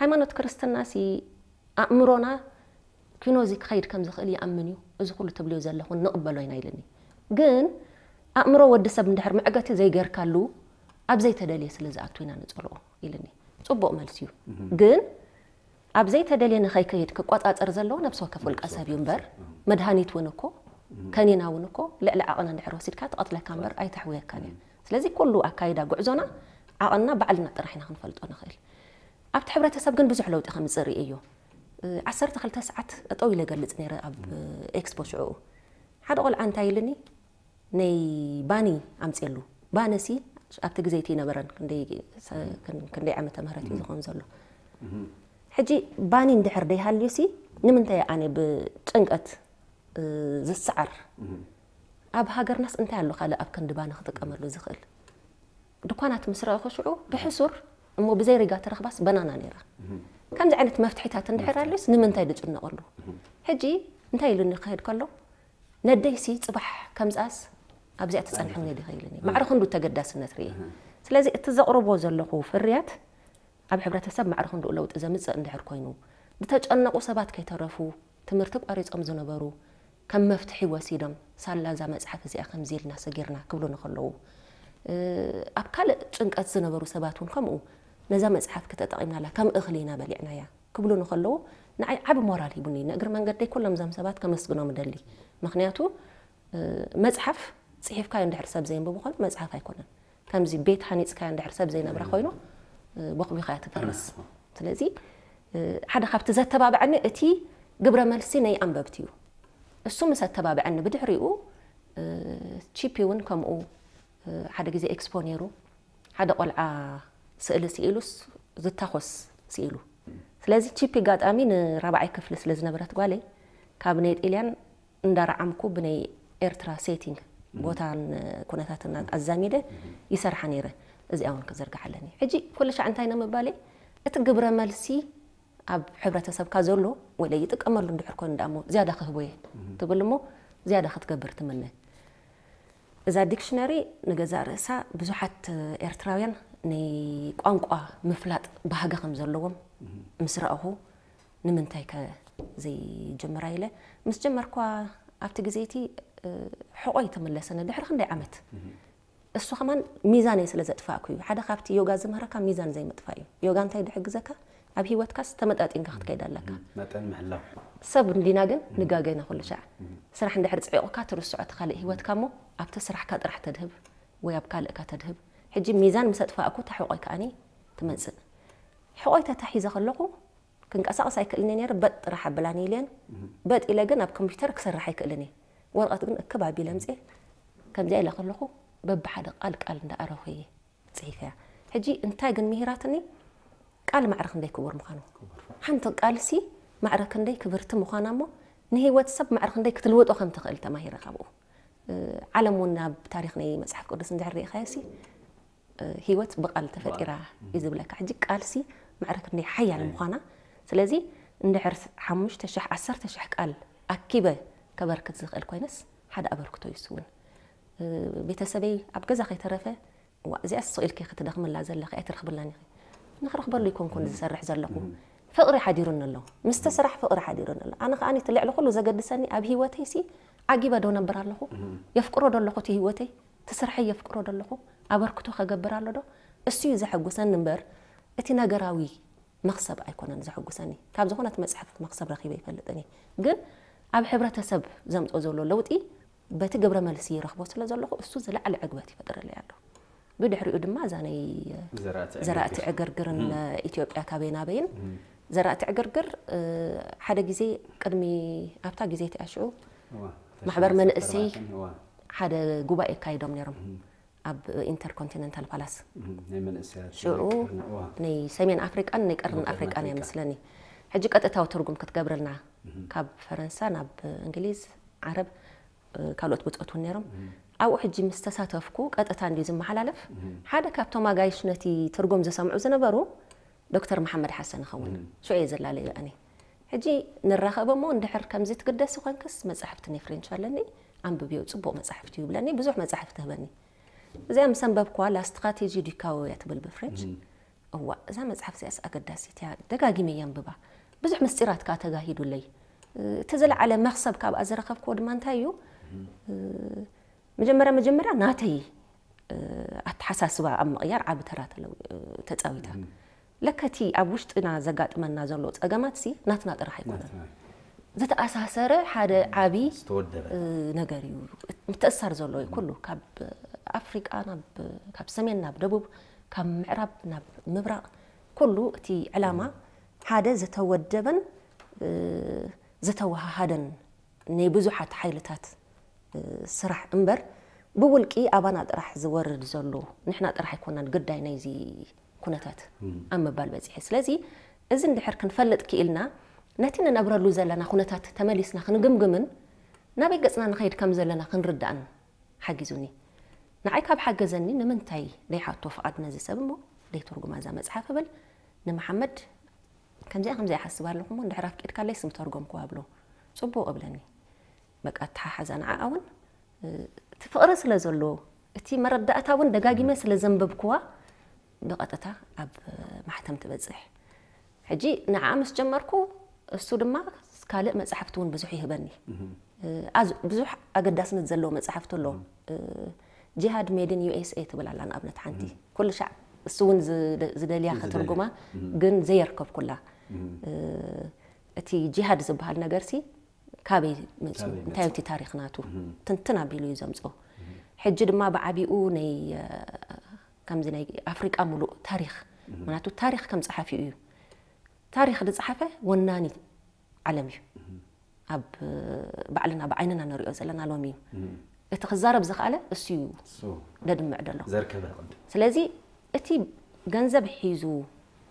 ሃይማኖት ክርስትናሲ ኣእምሮና ኪኖዚ ክኸይድ ከም ዝኽእል ይኣምን እዩ። እዚ ኩሉ ትብልዮ ዘለኹን ንቕበሎ ኢና ኢልኒ። ግን ኣእምሮ ወዲ ሰብ እንድሕር መዕገቲ ዘይገርካሉ ኣብ ዘይተደልየ ስለ ዝኣቱ ኢና ንጸልኦ ኢልኒ። ጽቡቕ መልሲ እዩ። ግን ኣብ ዘይተደልየ ንኸይከይድ ክቆጻጸር ዘለዎ ነብሲ ወከፍ ውልቀ ሰብ እዩ እምበር፣ መድሃኒት እውን እኮ፣ ከኒና እውን እኮ ልዕሊ ዓቕና እንድሕር ወሲድካ ትቐትለካ እምበር ኣይተሕውየካን እያ። ስለዚ ኩሉ ኣካይዳ ጉዕዞና ዓቕንና ባዕልና ጥራሕ ኢና ክንፈልጦ ንኽእል። ኣብቲ ሕብረተሰብ ግን ብዙሕ ለውጢ ከምጽእ ርእየዮ። እ፣ ዓሰርተ ክልተ ሰዓት ጠጠው ኢለ እገልጽ ነይረ ኣብ ኤክስፖ ሽዑኡ። ሓደ ቆልዓ እንታይ ኢልኒ፣ ነይ ባኒ ኣምጽየሉ። ባኒሲ ኣብቲ ግዜ እቲ ይነበረን፣ ክንደይ ሰ-፣ ክን-፣ ክንደይ ዓመተ ምህረት እዩ ዝኾን ዘሎ። ሕጂ ባኒ እንድሕር ደይሃልዩሲ፣ ንምንታይ ኣነ ብጭንቀት፣ እ፣ ዝሰዓር? ኣብ ሃገርናስ እንታይ ኣሎ ካልእ ኣብ ክንዲ ባኒ ክጥቀመሉ ዝኽእል? ድኳናት ምስ ረኣኹ ሽዑ ብሕሱር እሞ ብዘይ ሪጋ ተረኽባስ በናና ነይራ። ከምዚ ዓይነት መፍትሒታት እንድሕር ኣልዩስ ንምንታይ ድጭነቐሉ? ሕጂ እንታይ ኢሉኒ ክኸይድ ከሎ፣ ነደይሲ ጽባሕ ከምዝኣስ ኣብዚኣ ትጸንሕኒ ዲኺ ኢሉኒ። ማዕረ ክንዱ ተገዳስነት ርእየ። ስለዚ እቲ ዘቕርቦ ዘለኹ ፍርያት ኣብ ሕብረተሰብ ማዕረ ክንድኡ ለውጢ ዘምጽእ እንድሕር ኮይኑ፣ ዝተጨነቑ ሰባት ከይተረፉ፣ ትምህርቲ ቋሪጾም ዝነበሩ ከም መፍትሒ ወሲዶም፣ ሳላ እዛ መጽሓፍ እዚኣ ከምዚ ኢልና ሰጊርና ክብሉ ንኸለዉ፣ እ፣ ኣብ ካልእ ጭንቀት ዝነበሩ ሰባት እውን ከምኡ፣ ነዛ መጽሓፍ ክተጠቒምናላ ከም እኽሊ ኢና በሊዕናያ ክብሉ ንኸለዉ፣ ንዓይ ዓቢ ሞራል ሂቡኒ። ንእግሪ መንገደይ ኩሎም እዞም ሰባት ከመስግኖም እደሊ። ምኽንያቱ፣ እ፣ መጽሓፍ ጽሒፍካዮ እንድሕር ሰብ ዘየንብቡ ኮይኑ መጽሓፍ ኣይኮነን። ከምዚ ቤት ሃኒጽካዮ እንድሕር ሰብ ዘይነብራ ኮይኑ፣ እ፣ ቦኽቢኻያ ትፈርስ። ስለዚ፣ እ፣ ሓደ ካብቲ ዘተባብዐኒ እቲ ግብረ መልሲ ናይ ኣንበብቲ እዩ። እሱ ምስ ኣተባብዐኒ ብድሕሪኡ፣ እ፣ ቺፒ እውን ከምኡ፣ እ፣ ሓደ ግዜ ኤክስፖ ነይሩ። ሓደ ቆልዓ ስእሊ ስኢሉስ ዝታኾስ ስኢሉ። ስለዚ ቺፒ ኣጋጣሚ ንራብዓይ ክፍሊ ስለ ዝነበረት ጓለይ፣ ካብ ናይ ጣልያን እንዳረዓምኩ ብናይ ኤርትራ ሴቲንግ፣ ቦታን ኩነታትን ኣዛሚደ ይሰርሓ ነይረ። እዚኣ እውን ክዝርግሓ ኣለኒ። ሕጂ ኩሉ ሻዕ እንታይ ነው ምባለይ፣ እቲ ግብረ መልሲ ኣብ ሕብረተሰብካ ዘሎ ወለ ይጥቀመሉ እንድሕር ኮይኑ ደኣ እሞ ዝያዳ ክህቦ እየ ትብል እሞ ዝያዳ ክትገብር ትምነ። እዛ ዲክሽነሪ ንገዛእ ርእሳ ብዙሓት ኤርትራውያን ናይ ቋንቋ ምፍላጥ ባህጊ ከም ዘለዎም ምስ ረኣኹ፣ ንምንታይ ከ ዘይጅምራ ኢለ ምስ ጀመርኳ፣ ኣብቲ ግዜ እቲ፣ እ፣ ሕቖይ ተመለሰኒ ድሕሪ ክንደይ ዓመት። እሱ ከማን ሚዛነይ ስለ ዘጥፋእኩ እዩ። ሓደ ካብቲ ዮጋ ዝምህረካ ሚዛን ዘይምጥፋእ እዩ። ዮጋ እንታይ ድሕግዘካ? ኣብ ህይወትካስ ተመጣጢንካ ክትከይድ ኣለካ። መጠን ምሕላው። ሰብ እንዲና ግን ንጋገ ኢና ኩሉ ሻዕ። ስራሕ እንድሕር ጽዒቑካ ትርስዖ እቲ ካልእ ህይወትካ እሞ ኣብቲ ስራሕካ ጥራሕ ተድህብ ወይ ኣብ ካልእካ ተድህብ። ሕጂ ሚዛን ምስ ኣጥፋእኩ እታ ሕቖይ ከኣኒ ትመጽእ። ሕቖይ ተታሒዘ ከለኹ ክንቀሳቐስ ኣይክእልን እየ ነይረ፣ በጥ ጥራሕ ኣብላኒ ኢለን። በጥ ኢለ ግን ኣብ ኮምፒውተር ክሰርሕ ኣይክእልን እየ። ወረቐት ግን እክብ ኣቢለ ኣምጽኤ ከምዚኣ ኢለ ከለኹ በብሓደ ቃል ቃል እንዳኣረኹ እየ ጽሒፈያ። ሕጂ እንታይ ግን ምሂራትኒ? ቃል ማዕረ ክንደይ ክቡር ምዃኑ። ሓንቲ ቃልሲ ማዕረ ክንደይ ክብርቲ ምዃና እሞ ንህይወት ሰብ ማዕረ ክንደይ ክትልውጦ ከም ትኽእል ተማሂረ ካብኡ። እ፣ ዓለም እውን ኣብ ታሪኽ ናይ መጽሓፍ ቅዱስ እንድሕር ርኢኻዮሲ፣ እ፣ ህይወት ብቃል ተፈጢራ እዩ ዝብለካ። ሕጂ ቃልሲ ማዕረ ክንደይ ሓያል ምዃና። ስለዚ እንድሕር ሓሙሽተ ሽሕ፣ ዓሰርተ ሽሕ ቃል ኣኪበ ከበርክት ዝኽእል ኮይነስ ሓደ ኣበርክቶ ይስውን። እ፣ ቤተሰበይ ኣብ ገዛ ከይተረፈ፣ "እዋ፣ እዚኣስ ስቕ ኢልኪ ክትደኽምላ ዘለኺ ኣይትረኽብላን ኢኺ?" ንኽረኽበሉ ይኮንኩን ዝሰርሕ ዘለኹ። ፍቕሪ ሓዲሩኒ ኣሎ። ምስቲ ስራሕ ፍቕሪ ሓዲሩኒ ኣሎ። ኣነ ከኣ እቲ ልዕሊ ኩሉ ዘገድሰኒ ኣብ ህይወተይሲ ዓጊበ ዶ ነብር ኣለኹ? የፍቅሮ ዶ ኣለኹ እቲ ህይወተይ? እቲ ስርሐይ የፍቅሮ ዶ ኣለኹ? ኣበርክቶ ከገብር ኣሎ ዶ? እሱ እዩ ዘሐጉሰኒ እምበር እቲ ነገራዊ መኽሰብ ኣይኮነን ዘሐጉሰኒ። ካብ ዝኾነት መጽሓፍ መኽሰብ ረኺበ ይፈልጥን እየ። ግን ኣብ ሕብረተሰብ ዘምጾ ዘሎ ለውጢ በቲ ግብረ መልሲ ይረኽቦ ስለ ዘለኹ እሱ ዝለዓለ ዕግበት ይፈጥረለይ ኣሎ። ብድሕሪኡ ድማ እዛ ናይ ዘራእቲ ዘራእቲ ዕግርግር። ዕግርግርን ኢትዮጵያ ካበይ ናበይን ዘራእቲ ዕግርግር እ፣ ሓደ ግዜ ቅድሚ ኣብታ ግዜ እቲኣ ሽዑ እዋ፣ ማሕበር ተሽመ መንእሰይ ሰፈርባትን፣ እዋ። ሓደ ጉባኤ ኣካይዶም ነይሮም ኣብ ኢንተርኮንቲነንታል ፓላስ እም፣ ናይ መንእሰያት ሽዑ ናይ ቀርኒ፣ እዋ። ናይ ሰሜን ኣፍሪቃን ናይ ቀርኒ ናይ ቀርኒ ኣፍሪቃን ኣፍሪቃ። እያ መስለኒ። ሕጂ ቀጥታዊ ትርጉም ክትገብረልና ካብ ፈረንሳ ናብ እንግሊዝ፣ ዓረብ እ፣ ካልኦት ብጾት እውን ነይሮም። ኣብኡ ሕጂ ምስ ተሳተፍኩ ቀጥታ እንድዩ ዝመሓላለፍ። ሓደ ካብቶም ኣጋይሽ ነቲ ትርጉም ዝሰምዑ ዝነበሩ ዶክተር መሓመድ ሓሰን ይኸውን። ሽዑ እየ ዘላለዮ ኣነ። ሕጂ ንራኸብ እሞ እንድሕር ከምዚ ትግደሲ ኮንክስ መጻሕፍቲ ናይ ፍሬንች ኣለኒ፣ ኣንብብዮ፣ ጽቡቕ መጻሕፍቲ እዩ ይብለኒ፣ ብዙሕ መጻሕፍቲ ህበኒ። እዚኣ ምስ ኣንበብኩዋ ላ ስትራቴጂ ዱ ካዎ እያ ትብል ብፍሬንች። እዋ፣ እዛ መጽሓፍ እዚኣስ ኣገዳሲት እያ፣ ደጋጊመ እየ ኣንብባ። ብዙሕ ምስጢራት ከኣ ተጋሂዱለይ። እቲ ዝለዓለ መኽሰብ ካብኣ ዝረኸብክዎ ድማ እንታይ እዩ? መጀመርያ መጀመርያ ናተይ ኣተሓሳስባ ኣብ ምቕያር ዓቢ ተራ ተለው-፣ ተጻዊታ። ለከ እቲ ኣብ ውሽጥና ዘጋጥመና ዘሎ ጸገማትሲ ናትና ጥራሕ ኣይኮነን። ናትና። ዝተኣሳሰረ ሓደ ዓቢ ዝተወደበ። እ፣ ነገር እዩ። ምትእስሳር ዘሎ እዩ ኩሉ። ካብ ኣፍሪቃ ናብ፣ ካብ ሰሜን ናብ ደቡብ፣ ካብ ምዕራብ ናብ ምብራቕ፣ ኩሉ እቲ ዕላማ ሓደ ዝተወደበን፣ እ፣ ዝተወሃሃደን ናይ ብዙሓት ሓይልታት፣ እ፣ ስራሕ እምበር፣ ብውልቂ ኣባና ጥራሕ ዝወርድ ዘሎ፣ ንሕና ጥራሕ ኣይኮናን ግዳይ ናይዚ ኩነታት ኣብ ምባል በጺሐ። ስለዚ፣ እዚ እንድሕር ክንፈልጥ ክኢልና፣ ነቲ ንነብረሉ ዘለና ኩነታት ተመሊስና ክንግምግምን፣ ናበይ ገጽና ንኸይድ ከም ዘለና ክንርዳእን ሓጊዙኒ። ንዓይ ካብ ሓገዘኒ፣ ንምንታይ ደይሓቶ ፍቓድ ነዚ ሰብ እሞ፣ ደይትርጉማ እዛ መጽሓፍ እብል፣ ንመሓመድ፣ ከምዚኣ ከምዚኣ ይሓስብ ኣለኹ እሞ፣ እንድሕር ኣፍቂድካለይ ስም ተርጎምክዋ እብሎ። ጽቡቕ እብለኒ። በቃ፣ ኣተሓሓዛ ንዓኣ እውን፣ እ፣ እቲ ፍቕሪ ስለ ዘሎ፣ እቲ መረዳእታ እውን ደጋጊመ ስለ ዘንበብክዋ፣ ብቐጥታ ኣብ ማሕተም ትበጽሕ። ሕጂ ንዓኣ ምስ ጀመርኩ፣ እሱ ድማ ካልእ መጻሕፍቲ እውን ብዙሕ ይህበኒ። እ፣ ኣዝ-፣ ብዙሕ ኣገዳስነት ዘለዎ መጻሕፍቲ ኣሎ። እ፣ ጂሃድ ሜድን ዩ ኤስ ኤ ትብል ኣላ ንኣብነት ሓንቲ። ኩሉ ሻዕ እሱ እውን ዝደ-፣ ዝደልያ ዝደልያ። ክትርጉማ፣ ግን ዘየርከብኩላ። እ፣ እቲ ጂሃድ ዝበሃል ነገርሲ ካበይ መጺኡ? ካበይ እንታይ መጺኡ? እቲ ታሪኽ ናቱ? ትንትን ኣቢሉ እዩ ዘምጽኦ። ሕጂ ድማ ብዓቢኡ ናይ፣ እ፣ ከምዚ ናይ ኣፍሪቃ ሙሉእ ታሪኽ። ምኽንያቱ ታሪኽ ከም ጸሓፊኡ እዩ። ታሪኽ ዝጸሓፈ ወናኒ ዓለም እዩ። ኣብ ባዕልና ብዓይንና ንሪኦ ዘለና ሎሚ እዩ። እቲ ክዛረብ ዝኸኣለ እሱ እዩ እሱ ደድምዕ ደሎ። ዘርከበ ቅድም። ስለዚ እቲ ገንዘብ ሒዙ፣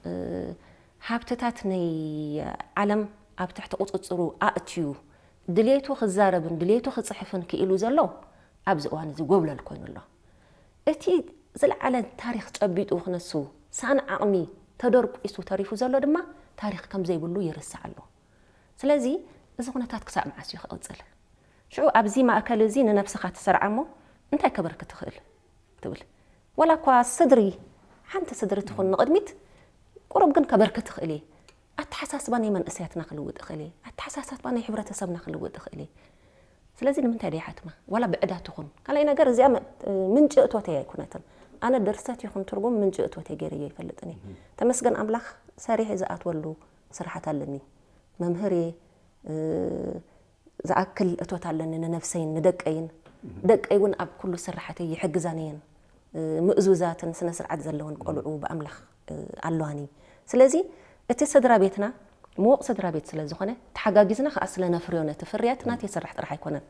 እ፣ ሃብትታት ናይ ዓለም ኣብ ትሕቲ ቁጽጽሩ ኣእትዩ፣ ድሌቱ ክዛረብን ድሌቱ ክጽሕፍን ክኢሉ ዘሎ ኣብዚ እዋን እዚ ጎብለል ኮይኑ ኣሎ። እቲ ዝለዓለ ታሪኽ ጨቢጡ ክነሱ ሳን ዓቕሚ ተደርቂሱ ተሪፉ ዘሎ ድማ ታሪኽ ከም ዘይብሉ ይርስዕ ኣሎ። ስለዚ እዚ ኩነታት ክሳብ መዓስ እዩ ክቕጽል? ሽዑ ኣብዚ ማእከል እዚ ንነብስኻ ትሰርዓ እሞ እንታይ ከበርክት ትኽእል? ትብል። ዋላ እኳ ስድሪ፣ ሓንቲ ስድሪ ትኹን ንቕድሚት፣ ቁሩብ ግን ከበርክት እኽእል እየ። ኣተሓሳስባ ናይ መንእሰያትና ክልውጥ እኽእል እየ። ኣተሓሳስባ ናይ ሕብረተሰብና ክልውጥ እኽእል እየ። ስለዚ ንምንታይ ደይሓትማ? ዋላ ብዕዳ ትኹን። ካልኣይ ነገር፣ እዚኣ መ-፣ ምንጪ እቶተይ ኣይኮነትን። ኣነ ድርሰት ይኹን ትርጉም ምንጪ እቶተይ ገይረዮ ኣይፈልጥን እየ። ተመስገን ኣምላኽ፣ ሰሪሐ ዝኣትወሉ ስራሓት ኣለኒ። መምህር እየ፣ እ፣ ዝኣክል እቶት ኣለኒ ንነብሰይን ንደቀይን። ደቀይ እውን ኣብ ኩሉ ስራሓተይ ይሕግዛኒ እየን። እ፣ ምእዙዛትን ስነ ስርዓት ዘለወን ቆልዑ ብኣምላኽ፣ እ፣ ኣለዋኒ። ስለዚ እቲ ስድራ ቤትና ምዉቕ ስድራ ቤት ስለ ዝኾነ፣ ተሓጋጊዝና ከኣ ስለ ነፍርዮ ነቲ ፍርያት ናተይ ስራሕ ጥራሕ ኣይኮነን።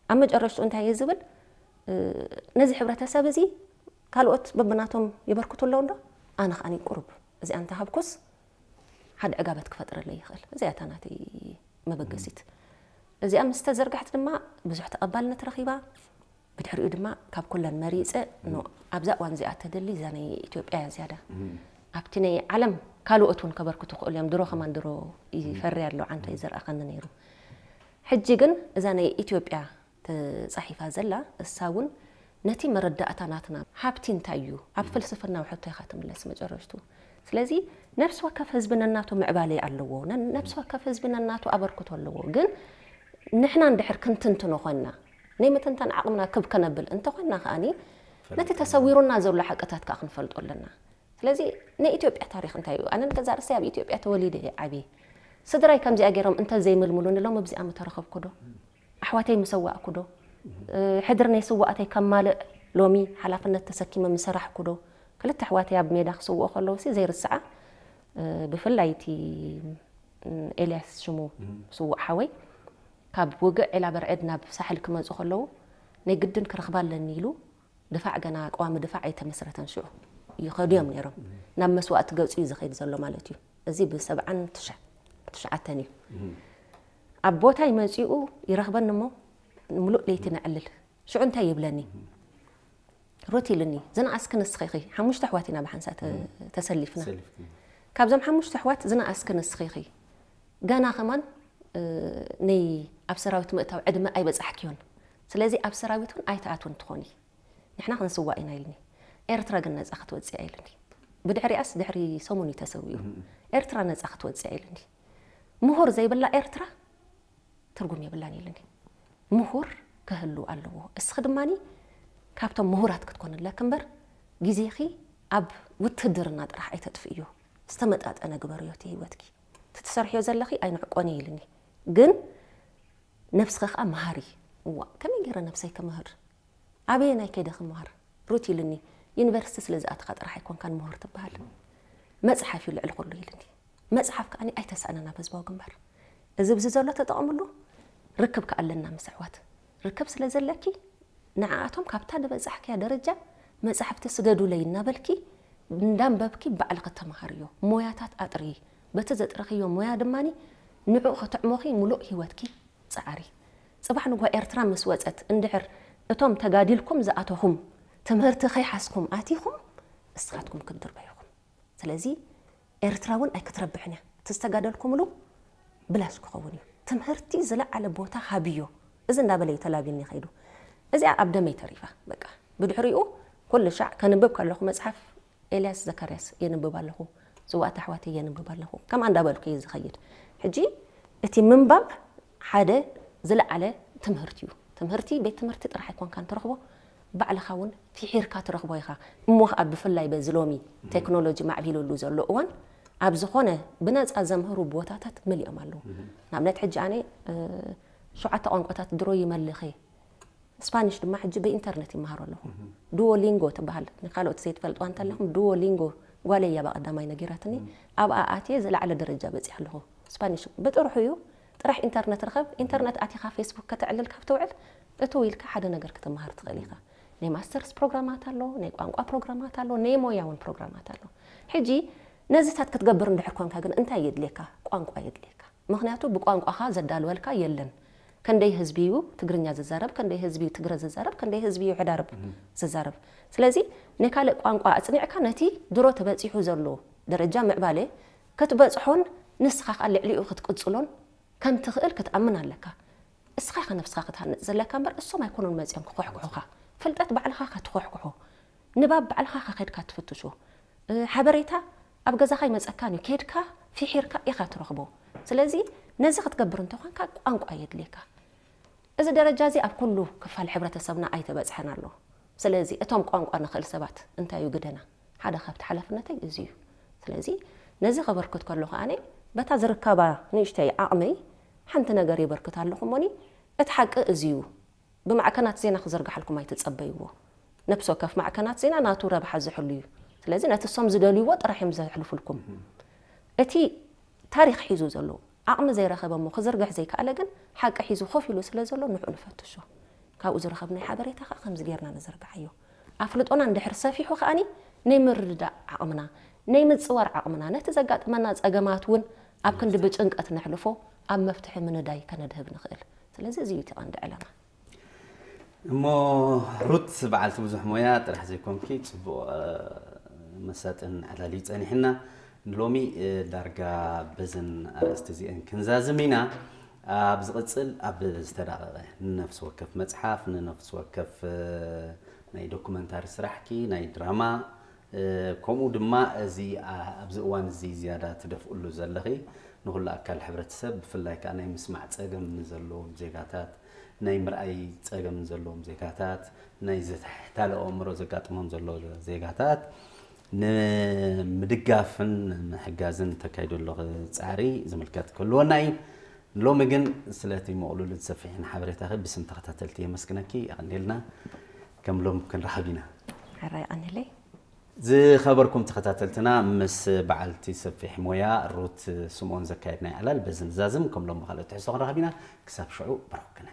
ኣብ መጨረሽትኡ እንታይ እየ ዝብል? እ፣ ነዚ ሕብረተሰብ እዚ ካልኦት በብናቶም የበርክቱ ኣለዉ እንዶ፣ ኣነ ከኣ ቁሩብ እዚኣ እንተሃብኩስ ሓደ ዕጋበት ክፈጥረለይ ይኽእል። እዚኣ እታ ናተይ መበገሲት። እዚኣ ምስ ተዘርግሐት ድማ ብዙሕ ተቐባልነት ረኺባ። ብድሕሪኡ ድማ ካብ ኩለን መሪጸ፣ ኖ፣ ኣብዛ እዋን እዚኣ ተደሊ እዛ ናይ ኢትዮጵያ እያ ዝያዳ። ኣብቲ ናይ ዓለም ካልኦት እውን ከበርክቱ ክኽእሉ እዮም። ድሮ ከማን ድሮ ይፈሪ ኣሎ፣ ዓንቶ እዩ ዘርኣኸኒ ነይሩ። ሕጂ ግን እዛ ናይ ኢትዮጵያ ተጻሒፋ ዘላ፣ እሳ እውን ነቲ መረዳእታ ናትና ሃብቲ እንታይ እዩ፣ ኣብ ፍልስፍናዊ ሕቶ ኢኻ ትምለስ መጨረሽቱ። ስለዚ ነፍሲ ወከፍ ህዝቢ ነናቱ ምዕባለ ኣለዎ፣ ነን- ነፍሲ ወከፍ ህዝቢ ነናቱ ኣበርክቶ ኣለዎ። ግን ንሕና እንድሕር ክንትንትኖ ኮይና፣ ናይ ምትንታን ዓቕምና ክብ ከነብል እንተኾይና ከኣኒ ነቲ ተሰዊሩና ዘሎ ሓቅታት ከዓ ክንፈልጦ ኣለና። ስለዚ ናይ ኢትዮጵያ ታሪኽ እንታይ እዩ? ኣነ ንገዛ ርእሰይ ኣብ ኢትዮጵያ ተወሊደ እየ ዓብየ። ስድራይ ከምዚኣ ገይሮም እንተዘይምልምሉኒ ሎም ኣብዚኣ ምተረኸብኩ ዶ? ኣሕዋተይ ምሰዋእኩ ዶ? ሕድር ናይ ስዋእተይ ከማልእ ሎሚ ሓላፍነት ተሰኪመ ምሰራሕኩ ዶ? ክልተ ኣሕዋተይ ኣብ ሜዳ ክስውኦ ከለዉ ሲ ዘይርስዓ፣ ብፍላይ እቲ ኤልያስ ሽሙ ስዉእ ሓወይ ካብ ውግእ ዒላ በርዕድ ናብ ሳሕል ክመፁ ከለዉ ናይ ግድን ክረኽባ ኣለኒ ኢሉ ድፋዕ ገና ቀዋሚ ድፋዕ ኣይተመስረተን ሽዑ ይኸዱ እዮም ነይሮም። ናብ መስዋእቲ ገፁ እዩ ዝኸይድ ዘሎ ማለት እዩ። እዚ ብሰብዓን ትሽዓተን እዩ። ኣብ ቦታ ይመፂኡ ይረኽበኒ እሞ ምሉእ ለይቲ ነዕልል። ሽዑ እንታይ ይብለኒ? ሩት ኢልኒ፣ ዝነኣስኪ ንስኺ ኢኺ። ሓሙሽተ ኣሕዋት ኢና ብሓንሳ ተ- ተሰሊፍና። ካብዞም ሓሙሽተ ኣሕዋት ዝነኣስኪ ንስኺ ኢኺ። ገና ከማን እ፣ ናይ ኣብ ሰራዊት ምእታው ዕድመ ኣይበጻሕክዮን። ስለዚ ኣብ ሰራዊት እውን ኣይትኣትውን ትኾኒ። ንሕና ክንስዋእ ኢና ኢልኒ። ኤርትራ ግን ነጻ ክትወጽእ እያ ኢልኒ። ብድሕሪኣስ ድሕሪ ሰሙን እዩ ተሰዊኡ። ኤርትራ ነጻ ክትወጽእ እያ ኢልኒ። ምሁር ዘይብላ ኤርትራ ትርጉም የብላን ኢልኒ። ምሁር ክህሉ ኣለዎ። እስኺ ድማኒ ካብቶም ምሁራት ክትኮኒ ኣለኪ እምበር ግዜኺ ኣብ ውትህድርና ጥራሕ ኣይተጥፍእዮ። ዝተመጣጠነ ግበርዮ እቲ ህይወትኪ። እቲ ትሰርሕዮ ዘለኺ ኣይንዕቆን እዩ ኢልኒ። ግን ነብስኺ ከዓ መሃሪ። እዋ፣ ከመይ ገይረ ነብሰይ ክምህር? ኣበየናይ ከይደ ክመሃር? ሩት ኢልኒ፣ ዩኒቨርሲቲ ስለ ዝኣተኻ ጥራሕ ኣይኮንካን ምሁር ትበሃል። መፅሓፍ እዩ ልዕሊ ኩሉ ኢልኒ። መፅሓፍ ከዓኒ ኣይተሳእነን ኣብ ህዝባዊ ግንባር። እዚ ብዚ ዘሎ ተጠቐምሉ፣ ርክብ ከኣለና ምስ ኣሕዋት። ርክብ ስለ ዘለኪ ንዓኣቶም ካብታ ዝበጻሕክያ ደረጃ መጻሕፍቲ ስደዱለይ እናበልኪ እንዳንበብኪ ባዕልኺ ተመሃርዮ። ሞያታት ኣጥርዪ። በቲ ዘጥረኽዮ ሞያ ድማኒ ንዕኡ ከተዕሞኺ ሙሉእ ህይወትኪ ጸዓሪ። ጽባሕ ንግሆ ኤርትራ ምስ ወጸት እንድሕር እቶም ተጋዲልኩም ዝኣተኹም ትምህርቲ ከይሓዝኩም ኣቲኹም እስኻትኩም ክትድርበዩ ኢኹም። ስለዚ ኤርትራ እውን ኣይክትረብሕን እያ። እቲ ዝተጋደልኩምሉ ብላሽ ክኸውን እዩ። ትምህርቲ ዝለዓለ ቦታ ሃብዮ። እዚ እንዳበለ እዩ ተላቢኒ ከይዱ። እዚኣ ኣብ ደመይ ተሪፋ። በቃ ብድሕሪኡ ኩሉ ሻዕ ከንብብ ከለኹ መጽሓፍ ኤልያስ ዘካርያስ የንብብ ኣለኹ። ዝዋእቲ ኣሕዋተይ የንብብ ኣለኹ። ከምኣ እንዳበልኩ እየ ዝኸይድ። ሕጂ እቲ ምንባብ ሓደ ዝለዓለ ትምህርቲ እዩ። ትምህርቲ ቤት ትምህርቲ ጥራሕ ኣይኮንካን ትረኽቦ፣ ባዕልኻ እውን ፊሒርካ ትረኽቦ ኢኻ። እሞ ኸኣ ብፍላይ በዚ ሎሚ ቴክኖሎጂ ማዕቢሉሉ ዘሎ እዋን ኣብ ዝኾነ ብነጻ ዘምህሩ ቦታታት መሊኦም ኣለዉ። ንኣብነት ሕጂ ኣነ እ፣ ሸውዓተ ቋንቋታት ድሮ ይመልኽ እየ። ስፓኒሽ ድማ ሕጂ ብኢንተርነት ይመሃሮ ኣለኹ። ዱዎሊንጎ ትበሃል፣ ንካልኦት ዘይትፈልጥዋ እንተለኹም ዱዎሊንጎ ጓለይ እያ ብቐዳማይ ነጊራትኒ። ኣብኣ ኣትየ ዝለዓለ ደረጃ በጺሐ ኣለኹ። ስፓኒሽ ብጥርሑ እዩ፣ ጥራሕ ኢንተርነት ርኸብ። ኢንተርነት ኣቲኻ ፌስቡክ ከተዕልል ካብ ትውዕል እትው ኢልካ ሓደ ነገር ክትመሃር ትኽእል ኢኻ። ናይ ማስተርስ ፕሮግራማት ኣሎ፣ ናይ ቋንቋ ፕሮግራማት ኣሎ፣ ናይ ሞያ እውን ፕሮግራማት ኣሎ። ሕጂ ነዚታት ክትገብር እንድሕር ኮንካ ግን እንታይ የድልየካ? ቋንቋ የድልየካ። ምኽንያቱ ብቋንቋኻ ዘዳልወልካ የለን። ከንደይ ህዝቢ እዩ ትግርኛ ዝዛረብ፣ ከንደይ ህዝቢ እዩ ትግረ ዝዛረብ፣ ከንደይ ህዝቢ እዩ ሕዳርብ ዝዛረብ። ስለዚ ናይ ካልእ ቋንቋ ኣጽኒዕካ ነቲ ድሮ ተበጺሑ ዘሎ ደረጃ ምዕባለ ክትበጽሖን ንስኻ ከኣ ልዕሊኡ ክትቅጽሎን ከም ትኽእል ክትኣምን ኣለካ። እስኻ ኢኻ ነብስኻ ክትሃንጽ ዘለካ እምበር እሶም ኣይኮኑን መጺኦም ክኾሕኩሑኻ። ፍልጠት ባዕልኻ ኢኻ ትኾሕኩሖ። ንባብ ባዕልኻ ኢኻ ከድካ ትፍትሾ። እ፣ ሓበሬታ ኣብ ገዛኻ ይመጸካን እዩ። ከድካ ፊሒርካ ኢኻ ትረኽቦ። ስለዚ ነዚ ክትገብር እንተኾንካ ቋንቋ የድልየካ። እዚ ደረጃ እዚ ኣብ ኩሉ ክፋል ሕብረተሰብና ኣይተበጽሐን ኣሎ። ስለዚ እቶም ቋንቋ ንኽእል ሰባት እንታይ እዩ ግደና? ሓደ ካብቲ ሓላፍነተይ እዚ እዩ። ስለዚ ነዚ ከበርክት ከለኹ ኣነ በታ ዝርከባ ንእሽተይ ዓቕመይ ሓንቲ ነገር የበርክት ኣለኹ እሞኒ እቲ ሓቂ እዚ እዩ። ብማዕከናት ዜና ክዝርግሓልኩም ኣይትጸበይዎ። ነብሲ ወከፍ ማዕከናት ዜና ናቱ ረብሓ ዝሕሉ እዩ። ስለዚ ነቲ እሶም ዝደልይዎ ጥራሕ እዮም ዘሕልፉልኩም። እቲ ታሪኽ ሒዙ ዘሎ ዓቕሚ ዘይረኸበ እሞ ክዝርግሕ ዘይከኣለ ግን ሓቂ ሒዙ ኮፍ ኢሉ ስለ ዘሎ ንዕኡ ንፈትሾ። ካብኡ ዝረኸብናይ ሓበሬታ ከኣ ከምዚ ጌርና ንዘርግሓዮ። ኣፍልጦና እንድሕር ሰፊሑ ከኣኒ ናይ ምርድዳእ ዓቕምና፣ ናይ ምጽዋር ዓቕምና፣ ነቲ ዘጋጥመና ጸገማት እውን ኣብ ክንዲ ብጭንቀት ነሕልፎ ኣብ መፍትሒ ምንዳይ ከነድህብ ንኽእል። ስለዚ እዚ እዩ እቲ ቀንዲ ዕላማ። እሞ ሩት በዓልቲ ብዙሕ ሞያ ጥራሕ ዘይኮንኪ ጽቡቕ እ፣ መሳጥን ኣላልዩ ጸኒሕና። ንሎሚ እ፣ ዳርጋ በዘን ኣርእስቲ እዚአን ክንዛዝም ኢና። ኣብ ዝቕጽል ኣብ ዝተዳቐቐ ንነፍሲ ወከፍ መጽሓፍ፣ ንነፍሲ ወከፍ እ፣ ናይ ዶኩመንታሪ ስራሕኪ፣ ናይ ድራማ ከምኡ ድማ እዚ ኣብዚ እዋን እዚ ዝያዳ ትደፍእሉ ዘለኺ ንኹሉ ኣካል ሕብረተሰብ፣ ብፍላይ ከዓ ናይ ምስማዕ ፀገም ዘለዎም ዜጋታት፣ ናይ ምርኣይ ፀገም ዘለዎም ዜጋታት፣ ናይ ዝተሕታለ ኣእምሮ ዘጋጥሞም ዘሎ ዜጋታት ንምድጋፍን ምሕጋዝን ተካይዶ ኣለኹ ፃዕሪ ዝምልከት ክህልወና እዩ። ሎሚ ግን ስለቲ ምቕሉልን ሰፊሕን ሓበሬታኺ ብስም ተኸታተልቲ የመስግነኪ። የቐንየልና። ከም ሎም ክንረኸብ ኢና። ሕራይ ቀኒለይ። ዝኸበርኩም ተኸታተልትና፣ ምስ በዓልቲ ሰፊሕ ሞያ ሩት ስምኦን ዘካየድናይ ዕላል በዚ ንዛዝም። ከም ሎም ብኻልእ ትሕዝቶ ክንረኸብ ኢና። ክሳብ ሽዑ በረኹክነ።